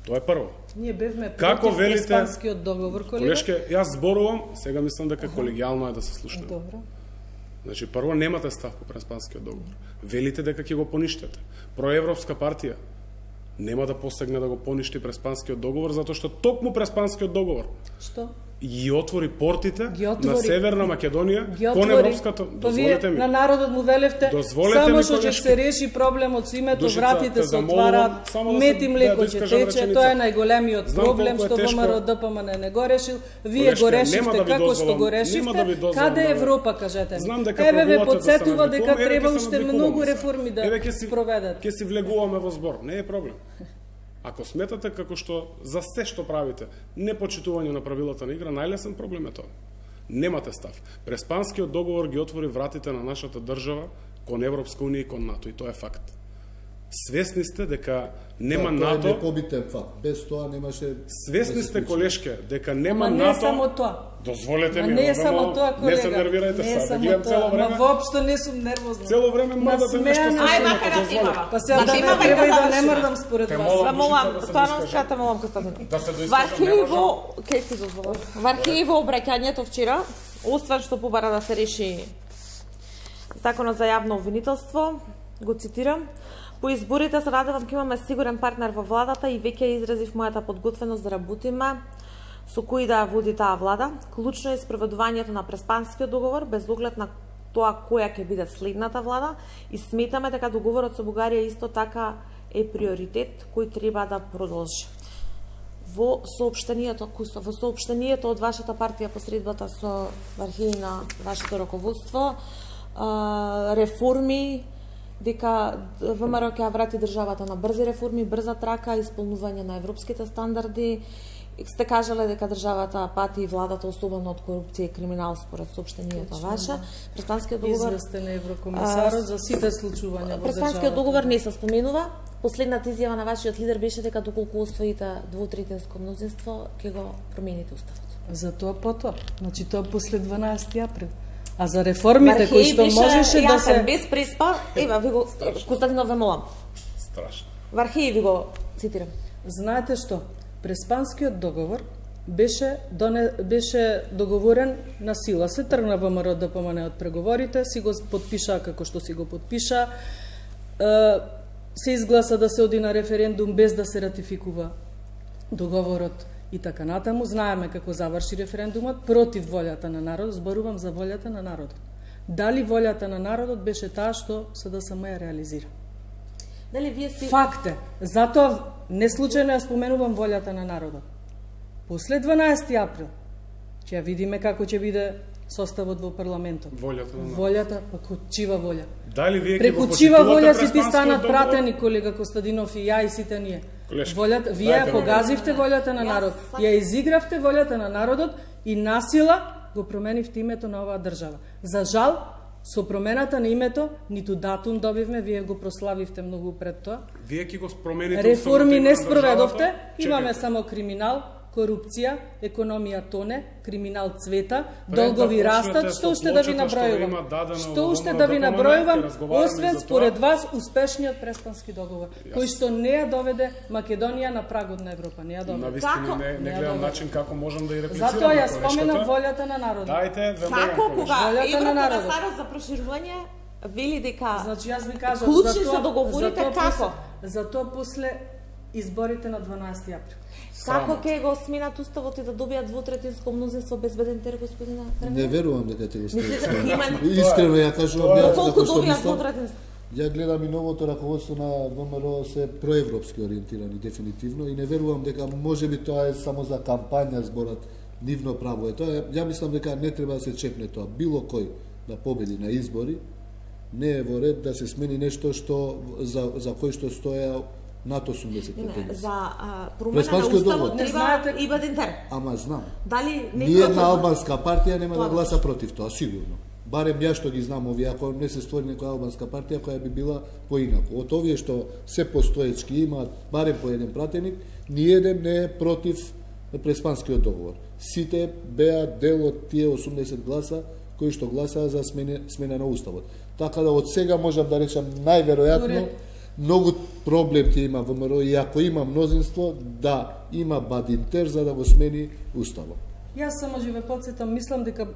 Тоа е прво. Ние бевме против Преспанскиот договор, колега. Колешке, јас зборувам, сега мислам дека колегијално е да се слушнеме. Добро. Значи, прво немате став по Преспанскиот договор. Велите дека ќе го поништите. Проевропска партија нема да посегне да го поништи Преспанскиот договор, затоа што токму Преспанскиот договор што ги отвори портите на Северна Македонија кон европската. Дозволете ми. На народот му велевте само што ќе се реши проблемот со името, вратите се отвараат, мет и млеко ќе тече, тоа е најголемиот проблем што ВМРО ДПМН не го решил. Вие го решивте како што го решивте. Каде е Европа, кажете? Еве ве потсетува дека треба уште многу реформи да проведат. Ќе си влегуваме во збор, не е проблем. Ако сметате како што за се што правите, не почитување на правилата на игра, најлесен проблем е тоа. Немате став. Преспанскиот договор ги отвори вратите на нашата држава кон Европска унија и кон НАТО, и тоа е факт. Свесни сте дека нема НАТО. Тоа е непобитен факт. Без тоа немаше. Свесни сте, колешке, дека нема НАТО. Не е само тоа. Дозволете ми. Не е само тоа, колега. Не се нервирајте сега. Гледам цело време. Ма воопшто не сум нервозна. Цело време мрдате нешто. Ај, макар да имава. Па сега да не треба и да не мрдам според вас. Па молам, стварно ската молам Костадино. Во архиви во обраќањето вчера, освен што побара да се реши Законот за јавно обвинителство, го цитирам: по изборите се надевам ќе имаме сигурен партнер во владата и веќе изразив мојата подготвеност да работиме со кои да води таа влада. Клучно е спроведувањето на Преспанскиот договор без оглед на тоа која ќе биде следната влада и сметаме дека договорот со Бугарија исто така е приоритет кој треба да продолжи. Во соопштението од вашата партија посредбата со архиви на вашето раководство, реформи, дека ВМРО ќе врати државата на брзи реформи, брза трака, исполнување на европските стандарди. Сте кажале дека државата пати и владата особено од корупција и криминал според соопштението ваше. Преспанскиот договор известен еврокомисарот за сите случувања во државата. Преспанскиот договор не се споменува. Последната изјава на вашиот лидер беше дека доколку освоите двотретинско мнозинство ќе го промените уставот. За тоа потоа, значи тоа после 12 април. А за реформите кои што можеше да се без преспа, ева ви го Константинов ве молам. Страшно. Во архиви ви го цитирам. Знаете што? Преспанскиот договор беше договорен на сила. Се тргна ВМРО ДПМН од преговорите, си го подпиша како што си го подпиша. Се изгласа да се оди на референдум без да се ратификува договорот и така натаму. Знаеме како заврши референдумот против волјата на народот, зборувам за волјата на народот. Дали волјата на народот беше таа што СДСМ ја реализира? Дали вие си Факт е. Затоа не случајно ја споменувам волјата на народот. После 12 април ќе ја видиме како ќе биде составот во парламентот. Волјата на народот. Волјата, па чива волја. Дали вие Преку чива волја си ти станат пратени, колега Костадинов и ја и сите ние. Волјата, вие ја погазивте волјата на народ, ја изигравте волјата на народот и насила го променивте името на оваа држава. За жал, со промената на името, ниту датум добивме, вие го прославивте многу пред тоа. Вие ќе го промените. Реформи не спроведовте, имаме само криминал, корупција, економија тоне, криминал цвета, долгови растат, што уште да ви набројувам. Што уште да ви набројувам, освен според вас успешниот Преспански договор, кој што не ја доведе Македонија на прагот на Европа, не ја доведе. Навистина не гледам начин како можам да ја реплицирам. Затоа ја споменав волјата на народот. Дајте, како кога волјата на народот. Европа за проширување вели дека Значи јас ви кажав, клучни се договорите како? Затоа после изборите на 12 април. Како ќе го сменат уставот и да добијат двотретинско мнозинство безбеден тер, господина? Не верувам дека ќе го сменат. Искрено ја кажувам, Колку добијат двотретинско? Ја гледам и новото раководство на ВМРО се проевропски ориентирани дефинитивно и не верувам дека можеби тоа е само за кампања зборот, нивно право е тоа. Ја мислам дека не треба да се чепне тоа. Било кој да победи на избори не е во ред да се смени нешто што за кој што стоја над 80%. За промена на уставот треба и Бадинтер. Ама знам. Дали Ниедна албанска партија нема да гласа против тоа, сигурно. Барем ја што ги знам овие, ако не се створи некоја албанска партија која би била поинаку. Од овие што се постоечки имаат барем по еден пратеник, ниеден не е против Преспанскиот договор. Сите беа дел од тие 80 гласа кои што гласаа за смена на уставот. Така да од сега можам да речам најверојатно многу проблем ќе има ВМРО и ако има мнозинство да има Бадинтер за да го смени уставот. Јас само ќе ве потсетам, мислам дека,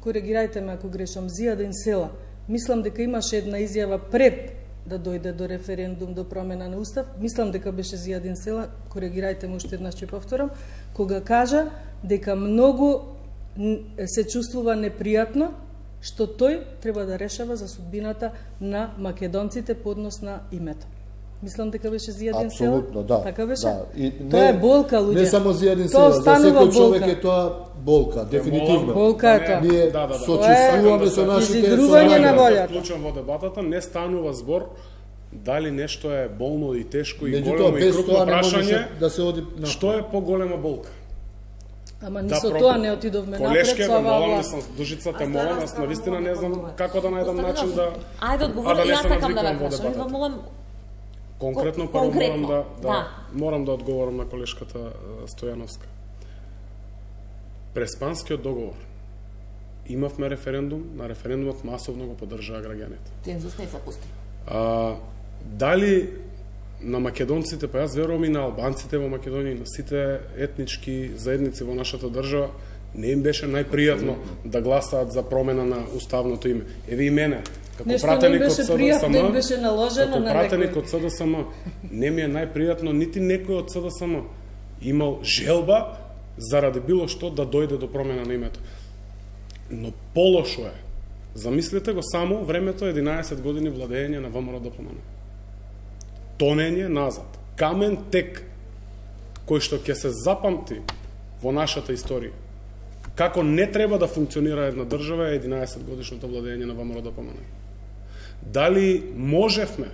коригирајте ме ако грешам, Зијадин Села, мислам дека имаше една изјава пред да дојде до референдум, до промена на устав, мислам дека беше Зијадин Села, коригирајте ме уште еднаш ќе повторам, кога кажа дека многу се чувствува непријатно што тој треба да решава за судбината на македонците по однос на името. Мислам дека беше Зијадин Села. Апсолутно, да. Така беше? Да. Тоа е болка, луѓе. Не само Зијадин Села, за секој човек е тоа болка, дефинитивно. Болка е тоа. Ние сочувствуваме со нашите изигрување на волјата. Вклучувам во дебатата, не станува збор дали нешто е болно и тешко и Меѓутоа, големо и без крупно тоа не прашање, можеше да се оди на што е поголема болка? Ама ни со тоа не отидовме напред Колешке, со оваа молам, власт. Дужицата молам, јас навистина не знам како да најдам начин да... Ајде одговори, јас сакам да ве прашам, ви молам конкретно прво да. морам да одговорам на колешката Стојановска. Преспанскиот договор. Имавме референдум, на референдумот масовно го поддржаа граѓаните. Цензус не се пусти. Дали на македонците, па јас верувам и на албанците во Македонија, и на сите етнички заедници во нашата држава, не им беше најпријатно да гласаат за промена на уставното име. Еве и мене, Како Нешто пратеник не од беше СДСМ, пријатно, им беше наложено како на пратеник некој. од СДСМ, не ми е најпријатно нити некој од СДСМ имал желба заради било што да дојде до промена на името. Но полошо е. Замислете го само времето 11 години владење на ВМРО-ДПМН. Тонење назад. Камен тек кој што ќе се запамти во нашата историја. Како не треба да функционира една држава е 11 годишното владење на ВМРО-ДПМН. Дали можевме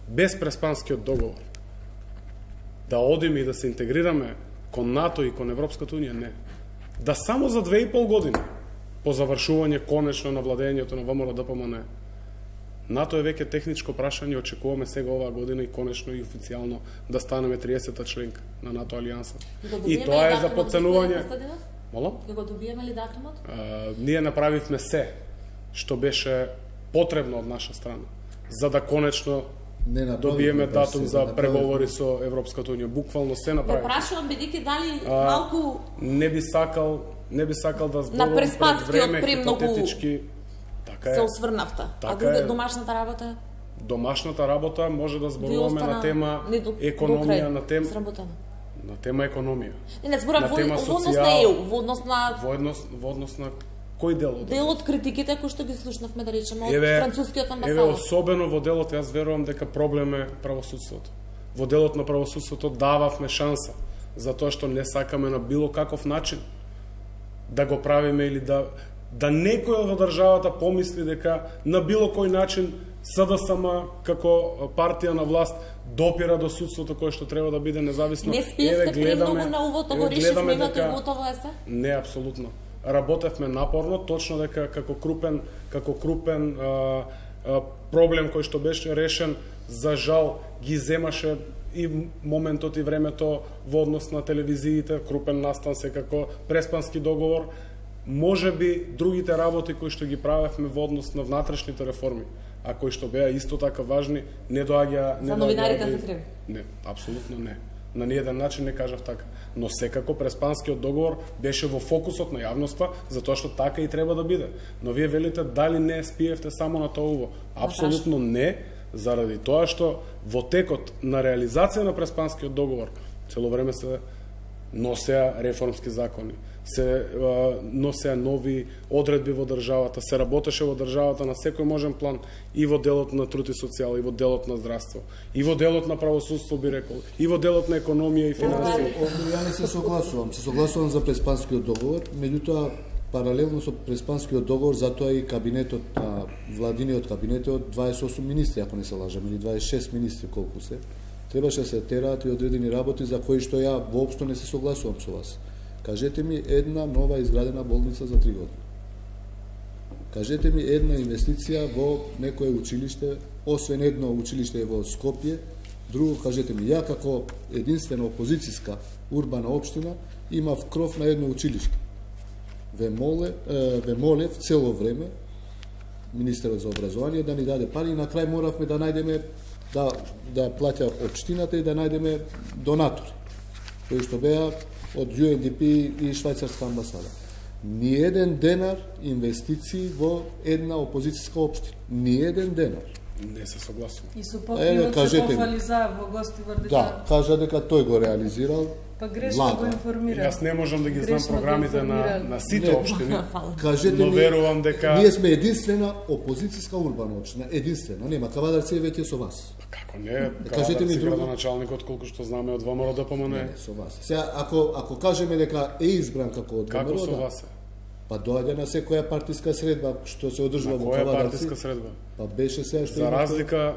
без Преспанскиот договор да одиме и да се интегрираме кон НАТО и кон Европската Унија? Не. Да само за 2,5 години по завршување конечно на владењето на ВМРО-ДПМН, НАТО е веќе техничко прашање, очекуваме сега оваа година и конечно и официјално да станеме 30-та членка на НАТО алијанса. И тоа е за подценување. Молам? Ќе го добиеме ли датумот? Ние направивме се што беше потребно од наша страна, за да конечно добиеме датум за преговори со Европската Унија. Буквално се направи. Го прашувам бидејќи дали малку не би сакал да зборувам на Преспанскиот пред време хипотетички. Така е. се осврнавте. А друга домашната работа? Домашната работа може да зборуваме на тема економија, на тема економија. Не зборам во однос на ЕУ, во однос на кој дел од делот критиките кои што ги слушнавме, да речеме, од францускиот амбасадор. Еве, особено во делот, јас верувам дека проблем е правосудството. Во делот на правосудството дававме шанса, затоа што не сакаме на било каков начин да го правиме или да некој во државата помисли дека на било кој начин СДСМ како партија на власт допира до судството кое што треба да биде независно. Не спиевте премногу на увото, го решивме името и готово е се? Не, апсолутно. Работевме напорно, точно дека како крупен проблем кој што беше решен, за жал ги земаше и моментот и времето во однос на телевизиите, крупен настан секако Преспански договор. Може би другите работи кои што ги правевме во однос на внатрешните реформи, а кои што беа исто така важни, не доаѓа... За новинарите се криви? Не, апсолутно не. На ниеден начин не кажав така. Но секако Преспанскиот договор беше во фокусот на јавноста, затоа што така и треба да биде. Но вие велите дали не спиевте само на тоа уво? Апсолутно не, заради тоа што во текот на реализација на Преспанскиот договор цело време се носеа реформски закони, се носеа нови одредби во државата, се работеше во државата на секој можен план и во делот на труд и социјала, и во делот на здравство, и во делот на правосудство, би рекол, и во делот на економија и финансија. Ја не се согласувам за Преспанскиот договор, меѓутоа паралелно со Преспанскиот договор, затоа и кабинетот, владиниот кабинет од 28 министри, ако не се лажам, или 26 министри колку се, требаше да се тераат и одредени работи за кои што ја воопшто не се согласувам со вас. Кажете ми една нова изградена болница за 3 години. Кажете ми една инвестиција во некое училиште, освен едно училиште во Скопје, друго кажете ми, ја како единствена опозицијска урбана општина имав кров на едно училиште. Ве молев цело време министерот за образование да ни даде пари и на крај моравме да најдеме да плаќа општината и да најдеме донатори, кои што беа од UNDP и швајцарска амбасада. Ниеден денар инвестиции во една опозицијска општина. Ниеден денар. Не се согласувам. И со покривот се пофали за во Гостивар дека... Да, кажа дека тој го реализирал. Па грешно го информира. Јас не можам да ги знам програмите на сите општини, Кажете но верувам дека... Ние сме единствена опозицијска урбана општина, единствена. Нема Кавадар се веќе со вас. Како не, кажете ми друго градоначалникот колку што знаме од ВМРО-ДПМН. Не, со вас. Сега ако кажеме дека е избран како од ВМРО, како со вас? Па доаѓа на секоја партиска средба што се одржува во Кавадарци. Кавадарци. Која партиска средба? Па беше сега што за разлика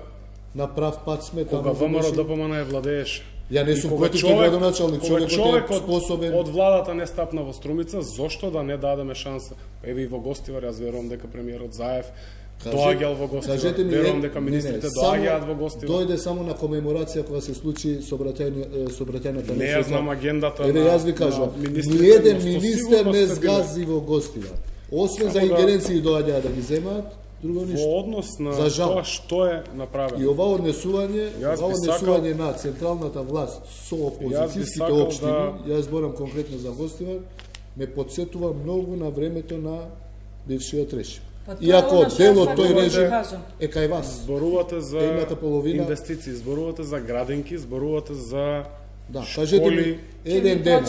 на прав пат сме кога ВМРО-ДПМН е владееше. Ја не сум против градоначалник, човекот е способен. Од владата не стапна во Струмица, зошто да не дадеме шанса? Еве и во Гостивар, јас верувам дека премиерот Заев доаѓал во Гостивар. Верувам дека министрите доаѓаат во Гостивар. Дојде само на комеморација кога се случи сообраќајната не ја знам агендата. Еве јас ви кажам, ниеден министер не згази во Гостивар. Освен за ингеренции доаѓаа да ги земаат, друго ништо. Во однос на тоа што е направено. И ова однесување на централната власт со опозицијските општини, јас зборам конкретно за Гостивар, ме потсетува многу на времето на бившиот режим. Иако дел од тој режим е кај вас. Зборувате за инвестиции, зборувате за градинки, зборувате за школи. Еден ден,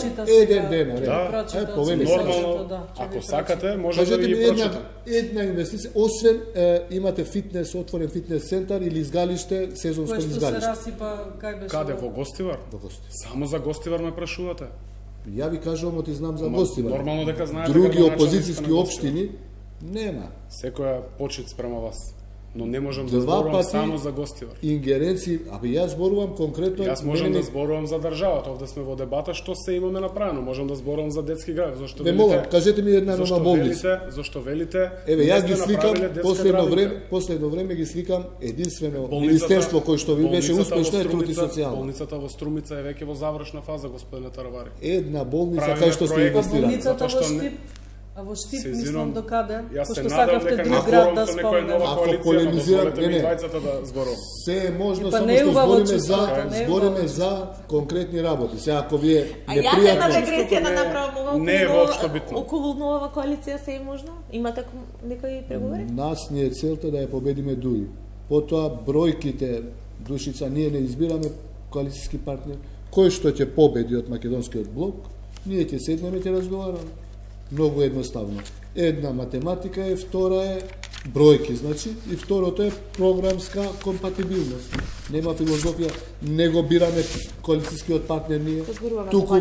нормално, ако сакате, може да ги прочитам. Една инвестиција, освен имате фитнес, отворен фитнес центар или изгалиште, сезонско изгалиште. Каде, во Гостивар? Само за Гостивар ме прашувате? Ја ви кажувам, ти знам за Гостивар. Нормално дека знаете. Други опозицијски општини нема. Секоја почит спрема вас. Но не можам да зборувам само за Гостивар. Ингеренции, јас зборувам конкретно. Јас можам да зборувам за државата. Овде сме во дебата што се имаме направено. Можам да зборувам за детски град, зашто велите. Молам, кажете ми една нова болница. Зашто велите? Еве, јас ги сликам последно време ги сликам единствено министерство кој што ви беше успешно е труд и социјално. Болницата во Струмица е веќе во завршна фаза, господине Таравари. Една болница кај што сте инвестирали. Болницата во Штип. А во Штип мислам до каде? Пошто сакавте друг град да спомнеме. Ако полемизирам, се е можно само што збориме за конкретни работи. Се ако ви е непријатно. Ја една регресија да направам не е воопшто битно. Околу нова коалиција се е можно? Имате некои преговори? Нас ни е целта да ја победиме ДУИ. Потоа бројките, Душица, ние не избираме коалицијски партнер. Кој што ќе победи од македонскиот блок, ние ќе седнеме и ќе разговараме. Многу едноставно. Една математика е, втора е бројки, значи, и второто е програмска компатибилност. Нема филозофија, не го бираме коалицијскиот партнер ние. Туку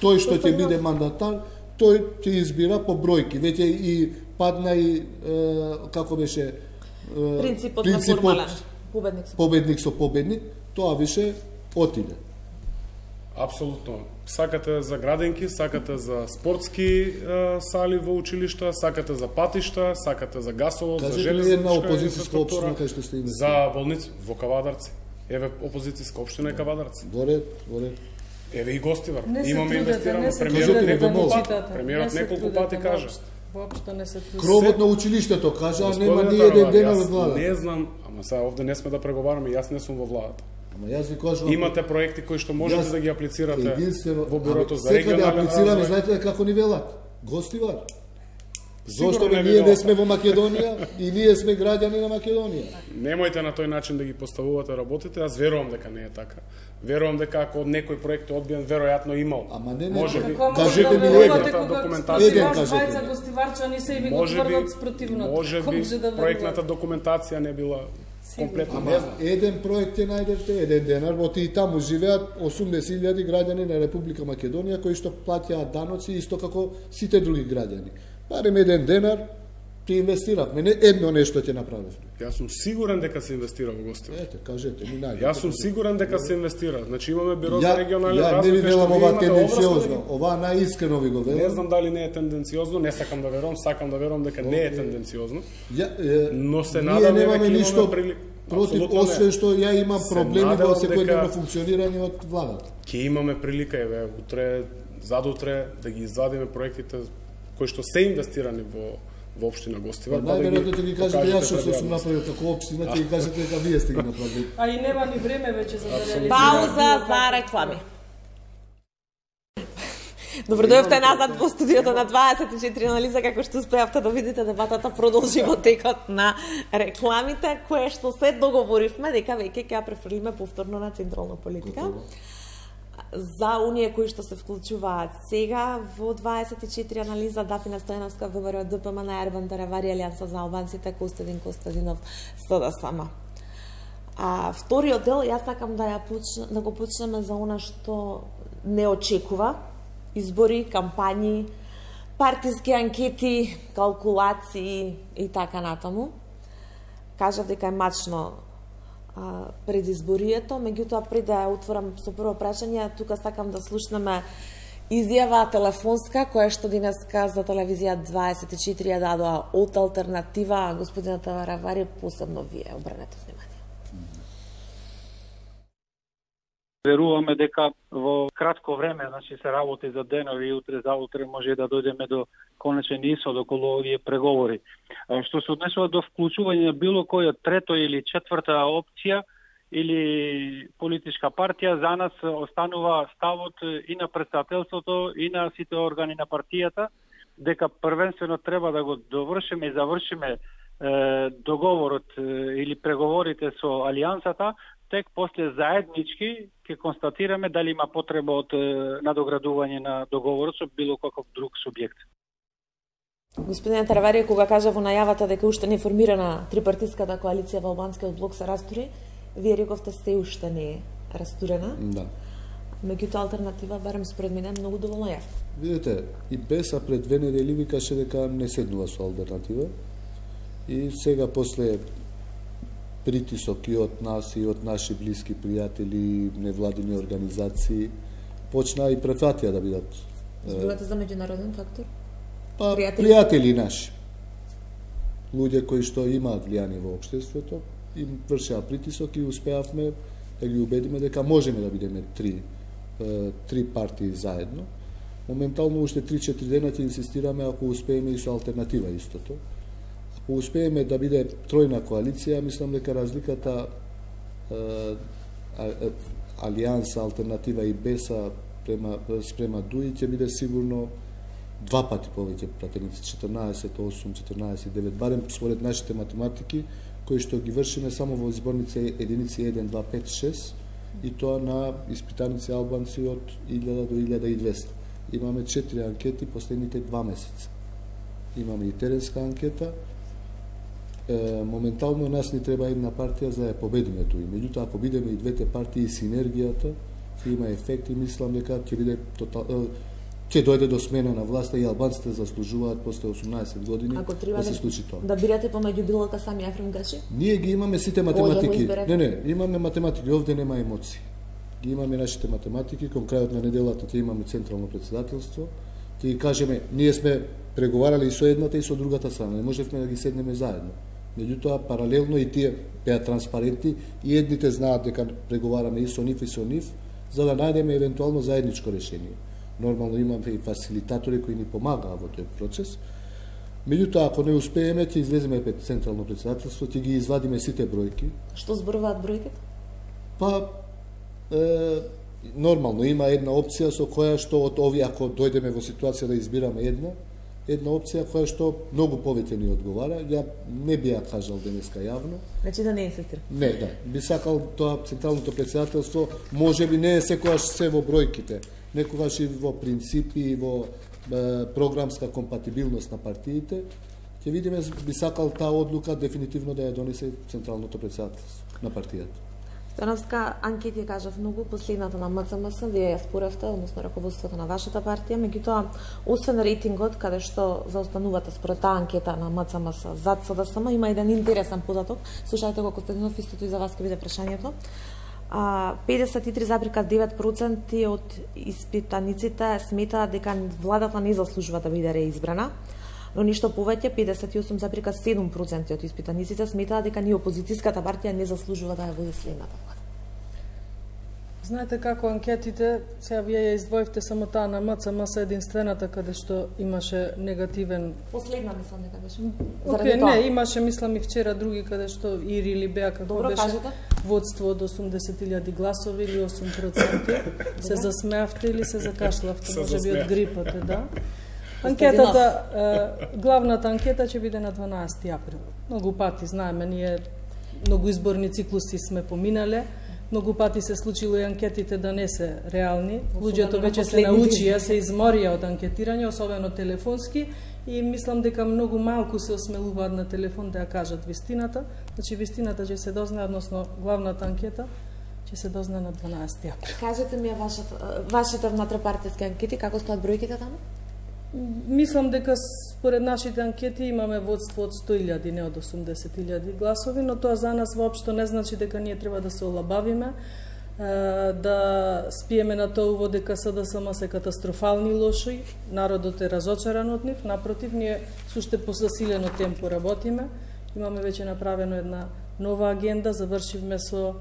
тој што ќе биде мандатар, тој ќе избира по бројки. Веќе и падна и како беше принципот на формален победник со победник, тоа више отиде. Апсолутно. Сакате за градинки, сакате за спортски сали во училишта, сакате за патишта, сакате за гасово, за железничка инфраструктура, за болници во Кавадарци. Еве опозицијска општина е Кавадарци. Во ред. Еве и Гостивар. Имаме инвестирано, премиерот неколку пати кажа. Воопшто не се кровот на училиштето кажа, нема ни еден ден од владата. Не знам, ама сега овде не сме да преговараме, јас не сум во владата. Ама јас ви кажувам, имате проекти кои што можете да ги аплицирате во бюрото за регионален регионален развој. Сега да аплицираме, знаете како ни велат? Гостивар. Зошто ние не сме во Македонија и ние сме граѓани на Македонија? Немојте на тој начин да ги поставувате работите, јас верувам дека не е така. Верувам дека ако некој проект е одбиен, веројатно имал. Ама не, можеби. Кажете ми проектната документација. Двајца гостиварчани се и ви го тврдат спротивното. Можеби проектната документација не била комплетно. Ама еден проект ќе најдете, еден денар, во и таму живеат 80.000 граѓани на Република Македонија кои што плаќаат даноци исто како сите други граѓани. Барем еден денар ти инвестиравме, не едно нешто ќе направиме. Јас сум сигурен дека се инвестира во Гостивар. Ете, кажете ми најде. Јас сум сигурен дека се инвестира. Значи имаме бюро за регионален развој. Ја не ви велам ова тенденциозно, ова најискрено ви го велам. Не знам дали не е тенденциозно, не сакам да верувам, сакам да верувам дека не е тенденциозно. Но се надам дека ќе имаме прилика. Против, освен што ја имам проблеми во секојдневно функционирање од владата. Ќе имаме прилика, еве, утре, задутре, да ги извадиме проектите кои што се инвестирани во општина Гостивар. Најверојатно ќе ги кажете јас што сум направил како општина, ќе ги кажете дека вие сте ги направили. А и нема ни време веќе за да реализираме. Пауза за реклами. Добро дојавте назад во студиото на 24 анализа, како што успеавте да видите, дебатата продолжи во текот на рекламите, кое што се договоривме дека веќе ќе ја префрлиме повторно на централна политика. За оние кои што се вклучуваат сега во 24 анализа, Дафина Стојановска, ВМРО, ДПМН, Ерван Таравари, Алијанса за албанците, Костадин Костадинов, СДСМ. Вториот дел, јас сакам да го почнеме за она што не очекува: избори, кампањи, партиски анкети, калкулации и така натаму. Кажав дека е мачно предизборието, меѓутоа пред да ја отворам со прво прашање, тука сакам да слушнеме изјава телефонска која што денеска за телевизија 24 ја дадоа од алтернатива. Господинот Таравари, посебно вие обрнете внимание. Веруваме дека во кратко време, значи се работи за денови и утре заутре може да дојдеме до конечен исход околу овие преговори. Што се однесува до вклучување на било која трето или четврта опција или политичка партија, за нас останува ставот и на претставителството и на сите органи на партијата дека првенствено треба да го довршиме и завршиме договорот или преговорите со Алијансата, тек после заеднички ќе констатираме дали има потреба од надоградување на договорот со било каков друг субјект. Господин Таравари, кога кажа во најавата дека уште не е формирана трипартиската коалиција во албанскиот блок се растури, вие рековте се уште не е растурена. Да. Меѓутоа алтернатива, барем според мене, е многу доволно јасна. Видете, и Беса пред 2 недели викаше дека не седнува со алтернатива. И сега после притисок и од нас и од наши блиски пријатели, невладини организации, почна и префатија да бидат. Зборувате за меѓународен фактор? Па, пријатели наши. Луѓе кои што имаат влијание во општеството, им вршеа притисок и успеавме да ги убедиме дека можеме да бидеме три партии заедно. Моментално уште 3-4 дена ќе инсистираме ако успееме и со алтернатива истото. Ако успееме да биде тројна коалиција, мислам дека разликата Алијанса, алтернатива и Беса спрема ДУИ ќе биде сигурно 2 пати повеќе пратеници, 14-8, 14-9, барем според нашите математики, кои што ги вршиме само во изборница единици 1, 2, 5, 6, и тоа на испитаници албанци од 1000 до 1200. Имаме 4 анкети последните 2 месеца. Имаме и теренска анкета. Моментално нас ни треба една партија за да ја победиме туи. Меѓутоа, ако бидеме и двете партии, синергијата ќе има ефект и мислам дека ќе биде ќе дојде до смена на власта и албанците заслужуваат после 18 години да се случи тоа. Да бирате помеѓу билока сами Ефрем Гачи? Ние ги имаме сите математики. Не, имаме математики, овде нема емоции. Ги имаме нашите математики, кон крајот на неделата ќе имаме централно председателство. Ќе ги кажеме, ние сме преговарали и со едната и со другата страна, не можевме да ги седнеме заедно. Меѓутоа, паралелно и тие беа транспарентни и едните знаат дека преговараме и со нив, за да најдеме евентуално заедничко решение. Нормално имаме и фасилитатори кои ни помагаа во тој процес. Меѓутоа, ако не успееме, ќе излеземе пред централно председателство, ќе ги извадиме сите бројки. Што зборуваат бројките? Па, нормално има една опција со која што од овие, ако дојдеме во ситуација да избираме една опција која што многу повеќе ни одговара. Ја не би ја кажал денеска јавно. Значи да не инсистира. Не, да. Би сакал тоа централното председателство, можеби не е секогаш се во бројките, некогаш и во принципи и во програмска компатибилност на партиите. Ќе видиме, би сакал таа одлука дефинитивно да ја донесе централното председателство на партијата. Стојановска, анкети кажав многу, последната на МЦМС, вие ја споравте, односно раководството на вашата партија, меѓутоа, освен рейтингот, каде што заостанувате според таа анкета на МЦМС зад СДСМ, има еден интересен податок, слушајте го Костадинов, истото и за вас ќе биде прашањето. 53,9% од испитаниците сметаат дека владата не заслужува да биде реизбрана, но ништо повеќе, 58,7% од испитаниците сметаат дека ни опозицијската партија не заслужува да ја води следната влада. Знаете како анкетите, сега вие ја издвоивте само таа на МЦМС единствената каде што имаше негативен... Последна мислам дека беше. Океј, не, имаше мислам и вчера други каде што Ири или беа како добро, беше кажете. Водство од 80.000 гласови или 8%. Се засмеавте или се закашлавте, можеби од грипате, да? Анкетата, главната анкета ќе биде на 12 април. Многу пати знаеме, ние многу изборни циклуси сме поминале, многу пати се случило и анкетите да не се реални. Луѓето веќе се научија, се изморија од анкетирање, особено телефонски, и мислам дека многу малку се осмелуваат на телефон да ја кажат вистината. Значи вистината ќе се дознае, односно главната анкета ќе се дознае на 12 април. Кажете ми вашите внатропартиски анкети, како стоат бројките таму? Мислам дека според нашите анкети имаме водство од 100.000, не од 80.000 гласови, но тоа за нас воопшто не значи дека ние треба да се олабавиме, да спиеме на тоа дека СДСМ се катастрофални лоши, народот е разочаран од нив, напротив, ние со уште по засилено темпо работиме, имаме веќе направено една нова агенда, завршивме со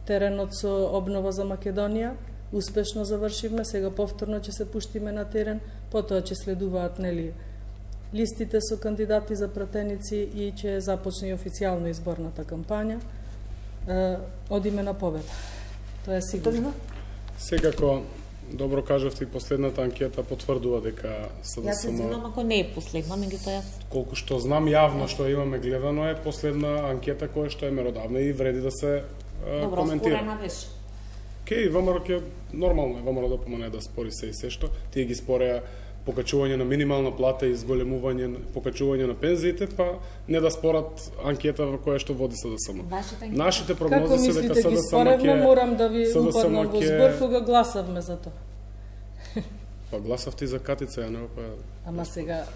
теренот со обнова за Македонија, успешно завршивме, сега повторно ќе се пуштиме на терен, потоа ќе следуваат листите со кандидати за пратеници и ќе започне официјално изборната кампања. Одиме на победа. Тоа е сигурно. Секако Добро кажавте, и последната анкета потврдува дека СДСМ... Јас се извинувам ако не е последна, меѓутоа јас... Колку што знам јавно што имаме гледано е последна анкета која што е меродавна и вреди да се коментира. Добро, спорена беше. Океј, ВМРО ќе нормално е, ВМРО да помане да спори се и се што. Тие ги спореа покачување на минимална плата и зголемување, покачување на пензиите, па не да спорат анкета во која што води СДСМ. Нашите прогнози се дека СДСМ ќе... Како мислите ги споревме, морам да ви упаднам во збор кога гласавме за тоа. Па гласавте и за Катица Јанева, па... Ама сега...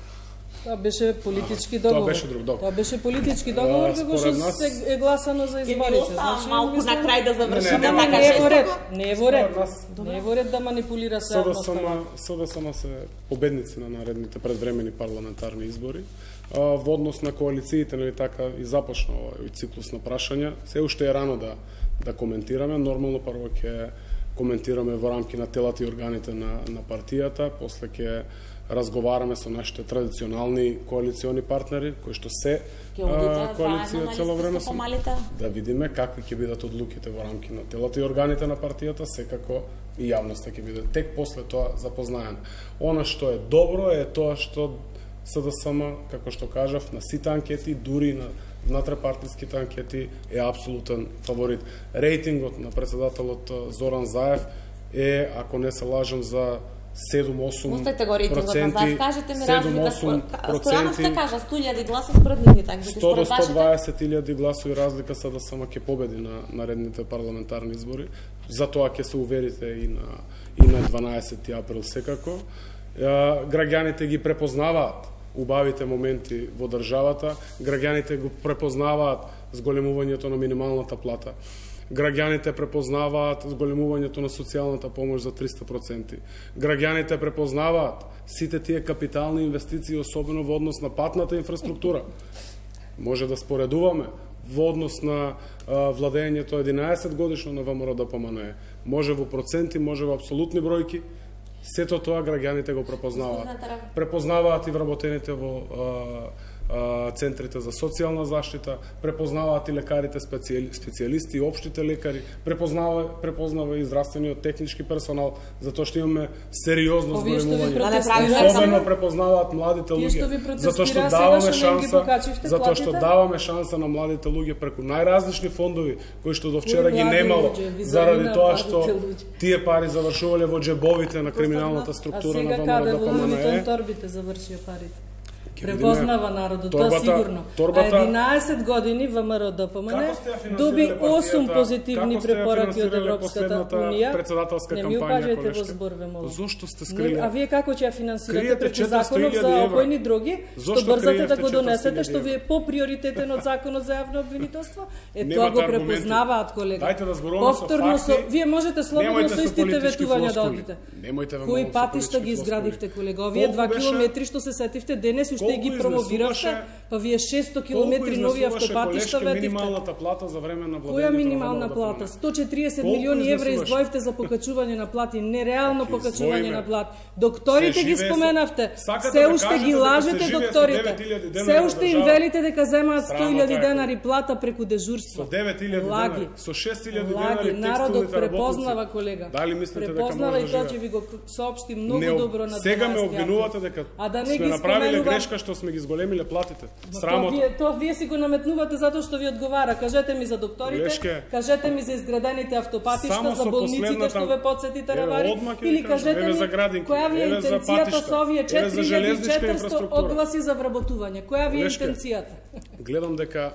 Тоа беше политички договор. Тоа беше друг договор. Тоа беше политички договор, како што се е гласано за изборите. Значи, малку на крај да завршиме така жестоко. Не е во ред. Не е во ред да манипулира се јавноста. СДСМ се победници на наредните предвремени парламентарни избори. Во однос на коалициите, нели така и започна овој циклус на прашања, се уште е рано да коментираме. Нормално прво ќе коментираме во рамки на телата и органите на партијата, после ќе разговараме со нашите традиционални коалициони партнери, кои што се коалиција цело време се, да видиме какви ќе бидат одлуките во рамки на телата и органите на партијата, секако и јавноста ќе биде тек после тоа запознаена. Она што е добро е тоа што СДСМ, како што кажав, на сите анкети, дури на внатрепартиските анкети е апсолутен фаворит. Рейтингот на председателот Зоран Заев е, ако не се лажам, за 7-8%. Пустете го рейтингот на Заев, кажете ми разлика. Стојановска кажа 100.000 гласа според нивните анкети. 100 до 120.000 гласови разлика СДСМ ќе победи на наредните парламентарни избори. За тоа ќе се уверите и на 12 април секако. Граѓаните ги препознаваат убавите моменти во државата, граѓаните го препознаваат зголемувањето на минималната плата. Граѓаните препознаваат зголемувањето на социјалната помош за 300%. Граѓаните препознаваат сите тие капитални инвестиции, особено во однос на патната инфраструктура. Може да споредуваме во однос на владењето 11 годишно на ВМРО ДПМНЕ. Може во проценти, може во апсолутни бројки. Сето тоа граѓаните го препознаваат. Препознаваат и вработените во центрите за социјална заштита, препознаваат и лекарите специјалисти, и општите лекари, препознава и здравствениот технички персонал, затоа што имаме сериозно зголемување. Особено препознаваат младите луѓе, затоа што даваме шанса на младите луѓе преку најразлични фондови кои што до вчера ги немало, заради тоа што тие пари завршувале во џебовите на криминалната структура на ВМРО ДПМНЕ. Торбите завршија парите. Препознава народот, тоа сигурно. А 11 години ВМРО ДПМНЕ доби 8 позитивни препораки од Европската унија. Не ми укажете во зборве, молам. Зошто сте скриле? А вие како ќе ја финансирате преку законот за опојни дроги, што брзате да го донесете, што ви е поприоритетен од законот за јавно обвинителство? Тоа го препознаваат, колега. Дајте да зборуваме со факти. Вие можете слободно со истите ветувања да одите. Кои патишта ги изградивте, колега? Овие 2 километри што се сетивте денес уште ги промовиравте, па вие 600 километри нови автопатишта ветивте. Минималната плата за време на владењето? Која минимална плата? 140 милиони евра издвоивте за покачување на плати, нереално покачување на плати. Докторите ги споменавте, се уште ги лажете докторите. Се уште им велите дека земаат 100.000 денари плата преку дежурство. Со 9.000 денари, со 6.000 денари народот препознава, колега. Дали мислите дека може да живее? Препознава и тоа ќе ви го соопшти многу добро на 12 Сега ме обвинувате дека сме направиле грешка што сме ги зголемиле платите. Срамота. Тоа вие си го наметнувате затоа што ви одговара. Кажете ми за докторите, кажете ми за изградените автопатишта, за болниците што ве потсетите равари, или кажете ми која ви е интенцијата со овие 4400 огласи за вработување. Која ви е интенцијата? Гледам дека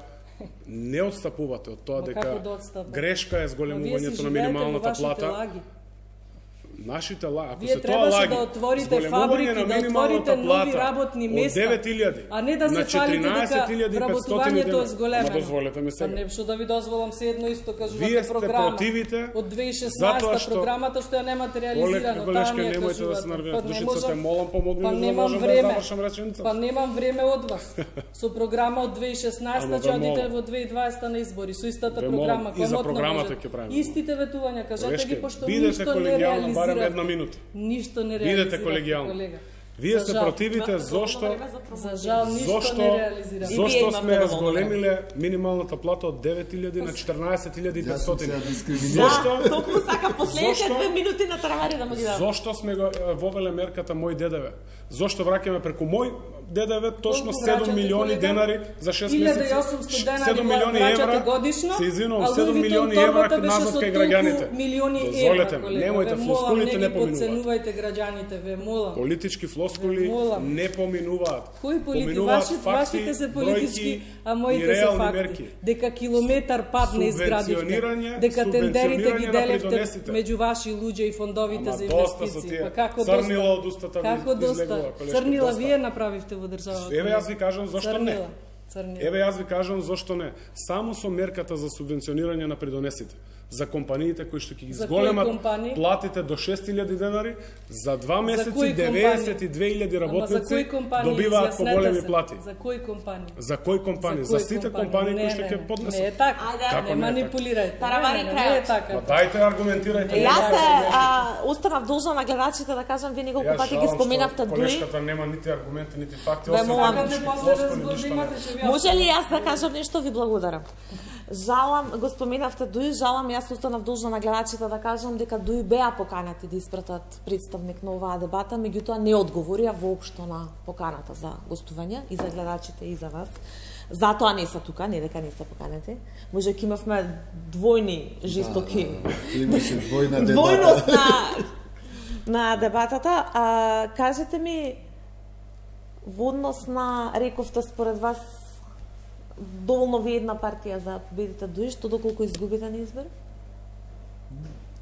не отстапувате од тоа дека грешка е зголемувањето на минималната плата. Нашите лаги, ако се тоа лаги, да отворите фабрики, да отворите нови работни места, а не да се фалите дека вработувањето е зголемено. Дозволете ми сега. Па не што да ви дозволам се едно исто кажувате вие сте програма. Противите од 2016 програмата што ја немате реализирано, таа ми ја кажувате. Душицата молам помогни ми да можам да завршам реченицата. Па немам време од вас. Со програма од 2016 ќе одите во 2020 на избори, со истата програма, која програмата ќе правиме. Истите ветувања, кажете ги пошто ништо не реализирате. Една минута. Ништо не реализирате. Бидете колегијални. Вие се противите зошто за жал ништо не реализираме. Зошто сме зголемиле минималната плата од 9.000 на 14.500. Зошто? Токму сака последните 2 минути на травари да му ги дадам. Зошто сме го вовеле мерката Мој ДДВ? Зошто враќаме преку Мој ДДВ точно 7 милиони денари за 6 месеци? 7 милиони евра годишно. Се извинувам, 7 милиони евра назад кај граѓаните. Дозволете ми, немојте флоскулите не поминуваат. Подценувајте граѓаните, ве молам. Политички флоскули не поминуваат. Кои политички? Вашите се политички, а моите се факти. Дека километар пат не изградивте, дека тендерите ги делевте меѓу ваши луѓе и фондовите за инвестиции. Па како доста? Црнила од устата како доста? Црнила вие направивте во државата. Еве јас ви кажам зошто не. Црнила. Еве јас ви кажам зошто не. Само со мерката за субвенционирање на придонесите за компаниите кои што ќе ги зголемат платите до 6.000 денари, за 2 месеци 92.000 работници добиваат поголеми плати. За кои компании? За кои компании? За сите компании кои што ќе поднесат. Не е така. Не манипулирајте. Таравари крајот. Па дајте аргументирајте. Јас останав должна на гледачите да кажам, вие неколку пати ги споменавте дуи. Колешката нема нити аргументи, нити факти, Може ли јас да кажам нешто? Ви благодарам. Жалам, го споменавте Дуи, жалам, јас останав должна на гледачите да кажам дека Дуи беа поканати да испратат представник на оваа дебата, меѓутоа не одговорија воопшто на поканата за гостување и за гледачите и за вас. Затоа не се тука, не дека не се поканати. Може ќе имавме двојни жестоки. Имаше двојна дебата. Двојност на дебатата. Кажете ми, во однос на, рековте според вас, доволно ви една партија за победите Дуи, што доколку изгубите на избор?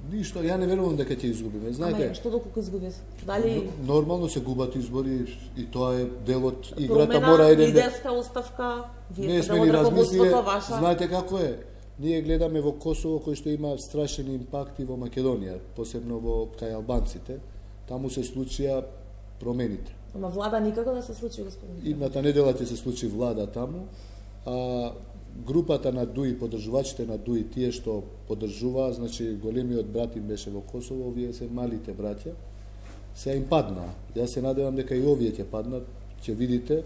Ништо, ја не верувам дека ќе изгубиме. Знаете, ама што доколку изгубите? Дали нормално се губат избори и тоа е дел од играта, мора еден лидерска оставка, вие сте ни размислиле. Знаете како е? Ние гледаме во Косово кој што има страшен импакт и во Македонија, посебно во кај албанците. Таму се случија промените. Ама влада никако да се случи, господин. Идната недела ќе се случи влада таму. А групата на Дуи, поддржувачите на Дуи, тие што поддржуваа, значи големиот брат им беше во Косово, овие се малите браќа, се им паднаа. Јас се надевам дека и овие ќе паднат, ќе видите.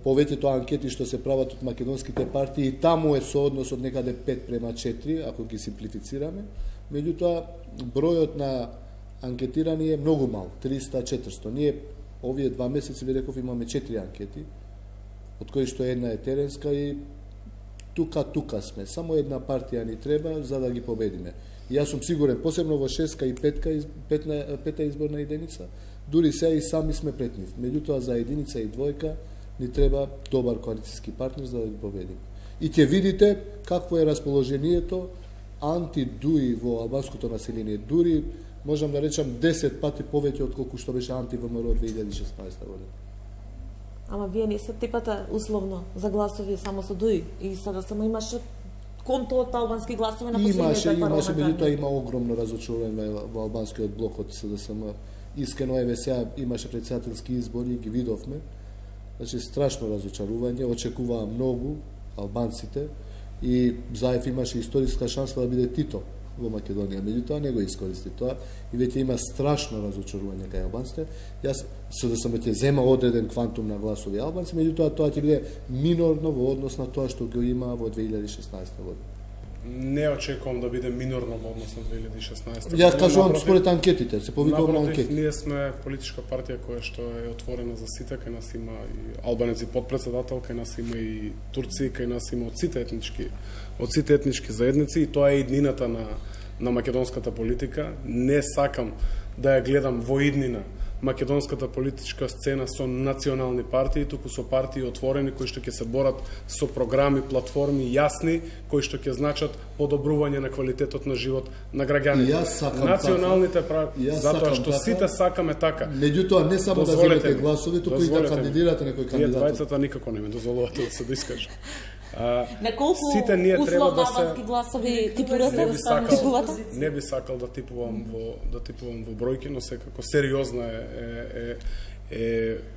Повеќето анкети што се прават од македонските партии, и таму е сооднос од некаде 5:4, ако ги симплифицираме. Меѓутоа, бројот на анкетирани е многу мал, 300-400. Ние овие 2 месеци, ви реков, имаме 4 анкети, од кои што една е теренска и тука сме. Само една партија ни треба за да ги победиме. И јас сум сигурен, посебно во 6-ка и 5-та изборна единица, дури се и сами сме пред нив. Меѓутоа за единица и двојка ни треба добар коалицијски партнер за да ги победиме. И ќе видите какво е расположението анти-Дуи во албанското население. Дури можам да речам 10 пати повеќе од колку што беше анти-ВМРО 2016 година. Ама вие не се типате условно за гласови само со Дуи и sada само имаше конто од албански гласови на последните парламентарни. Имаше, меѓутоа има огромно разочарување во албанскиот блок од СДСМ. Искрено еве сега имаше претседателски избори и ги видовме. Значи страшно разочарување, очекуваа многу албанците и Заев имаше историска шанса да биде Тито во Македонија, меѓутоа не го искористи тоа и веќе има страшно разочарување кај албанците. Јас СДСМ ќе зема одреден квантум на гласови албанци, меѓутоа тоа ќе биде минорно во однос на тоа што го има во 2016 година. Не очекувам да биде минорно во однос на 2016 година. Јас кажувам според анкетите, се повикувам на анкети. Ние сме политичка партија која што е отворена за сите, кај нас има и албанеци подпредседател, кај нас има и турци, кај нас има од сите етнички заедници и тоа е иднината на македонската политика. Не сакам да ја гледам во иднина македонската политичка сцена со национални партии, туку со партии отворени кои што ќе се борат со програми, платформи јасни, кои што ќе значат подобрување на квалитетот на живот на граѓаните. Националните партии, затоа што сите сакаме така. Меѓутоа не само да земете гласови, туку и да кандидирате некој кандидат. Вие двајцата никако не ме дозволувате да се доискажам. На колку сите ние треба да албански гласови типувате? Не би сакал да типувам во бројки, но секако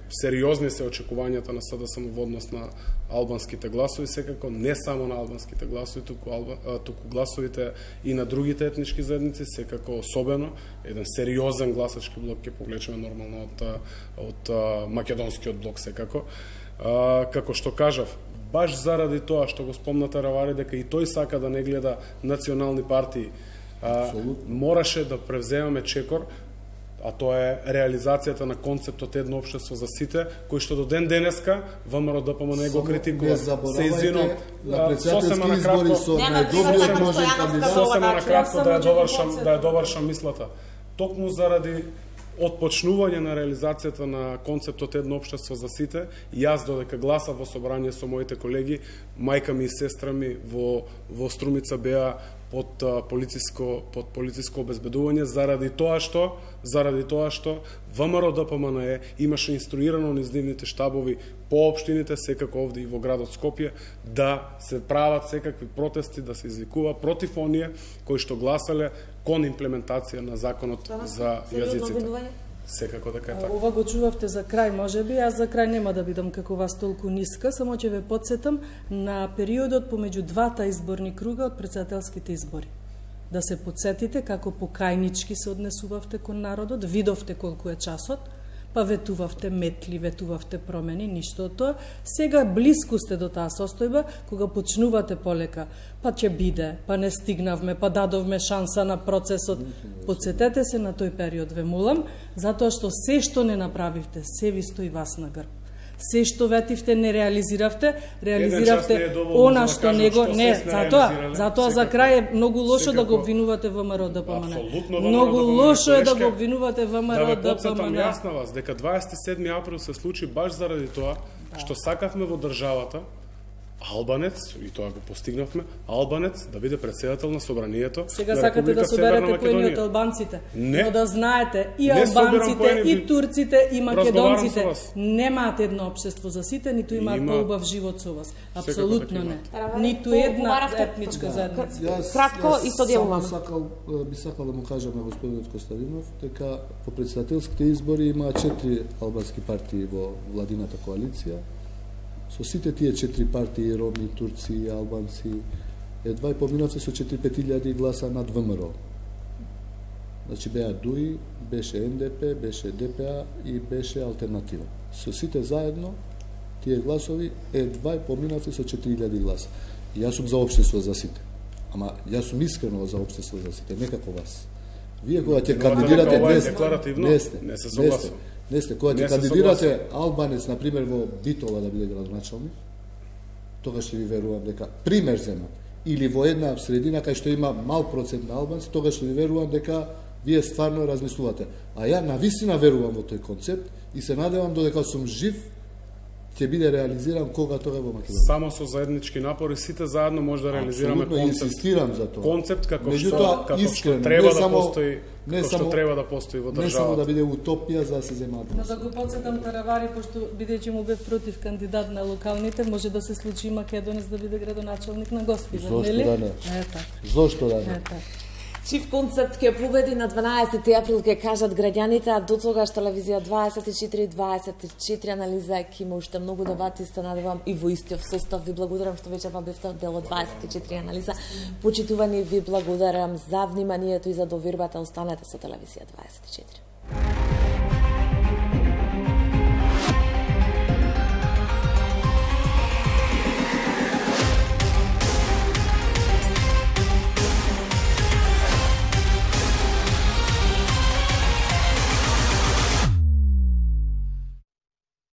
сериозни се очекувањата на СДСМ во однос на албанските гласови, секако не само на албанските гласови, туку гласовите и на другите етнички заедници, секако особено еден сериозен гласачки блок ќе повлечеме нормално од македонскиот блок секако. Како што кажав, баш заради тоа што го спомната Равари дека и тој сака да не гледа национални партии, мораше да превземаме чекор, а тоа е реализацијата на концептот едно општество за сите, кој што до ден денеска ВМРО ДПМН го критикува. Се извинувам, на председателски избори со најдобриот можен кандидат. Сосема накратко да ја довршам мислата. Токму заради отпочнување на реализацијата на концептот едно општество за сите, јас додека гласав во собрание со моите колеги, мајка ми и сестра ми во Струмица беа под полициско обезбедување заради тоа што ВМРО ДПМН имаше инструирано низ нивните штабови по општините, секако овде и во градот Скопје, да се прават секакви протести, да се извикува против оние кои што гласале кон имплементација на законот за јазиците. Секако дека е така. Ова го чувавте за крај, можеби, јас за крај нема да бидам како вас толку ниска, само ќе ве потсетам на периодот помеѓу двата изборни круга од председателските избори. Да се потсетите како покајнички се однесувавте кон народот, видовте колку е часот, па ветувавте метли, ветувавте промени, ништо од тоа. Сега блиску сте до таа состојба, кога почнувате полека, па ќе биде, па не стигнавме, па дадовме шанса на процесот. Потсетете се на тој период, ве молам, затоа што се што не направивте, се ви стои вас на грб. Се што ветивте не реализиравте она што него не, затоа за крај е многу лошо да го обвинувате ВМРО ДПМН. Многу лошо е да го обвинувате ВМРО ДПМН. Да ве потсетам јас на вас дека 27 април се случи баш заради тоа што сакавме во државата албанец, и тоа го постигнавме, албанец да биде председател на собранието. Сега сакате да соберете поени од албанците, но да знаете и албанците, и турците, и македонците немаат едно општество за сите, ниту имаат поубав живот со вас. Апсолутно не. Ниту една етничка заедница. Кратко и соделуваме. Би сакал да му кажам на господинот Костадинов дека по председателските избори има 4 албански партии во владината коалиција. Со сите тие 4 партии, роми, турци, албанци, едва и поминавте со 4-5 гласа над ВМРО. Значи беа ДУИ, беше НДП, беше ДПА и беше Алтернатива. Со сите заедно, тие гласови, едва и поминавте со 4000 гласа. И јас сум за општество за сите. Ама јас сум искрено за општество за сите, не како вас. Вие кога ќе кандидирате не сте, кога ќе кандидирате албанец, например, во Битола да биде градоначалник, тогаш ќе ви верувам дека пример земат. Или во една средина кај што има мал процент на албанци, тогаш ќе ви верувам дека вие стварно размислувате. А ја навистина верувам во тој концепт и се надевам додека сум жив ќе биде реализиран кога тоа во Македонија. Само со заеднички напори сите заедно може да реализираме концепт. Инсистирам за тоа. Концепт како што треба да постои, како што треба да постои во државата. Не само да биде утопија за да се земаат. Но да го потсетам Таравари, пошто бидејќи му бев против кандидат на локалните, може да се случи македонец да биде градоначалник на Госпивар, нели? Зошто да не? Зошто да не? Чив концепт ќе победи на 12 април, ќе кажат граѓаните, а до тогаш телевизија 24 анализа ќе има уште многу дебати, се надевам и во истиот состав. Ви благодарам што вечерва бевте дел од 24 анализа. Почитувани, ви благодарам за вниманието и за довербата. Останете со телевизија 24.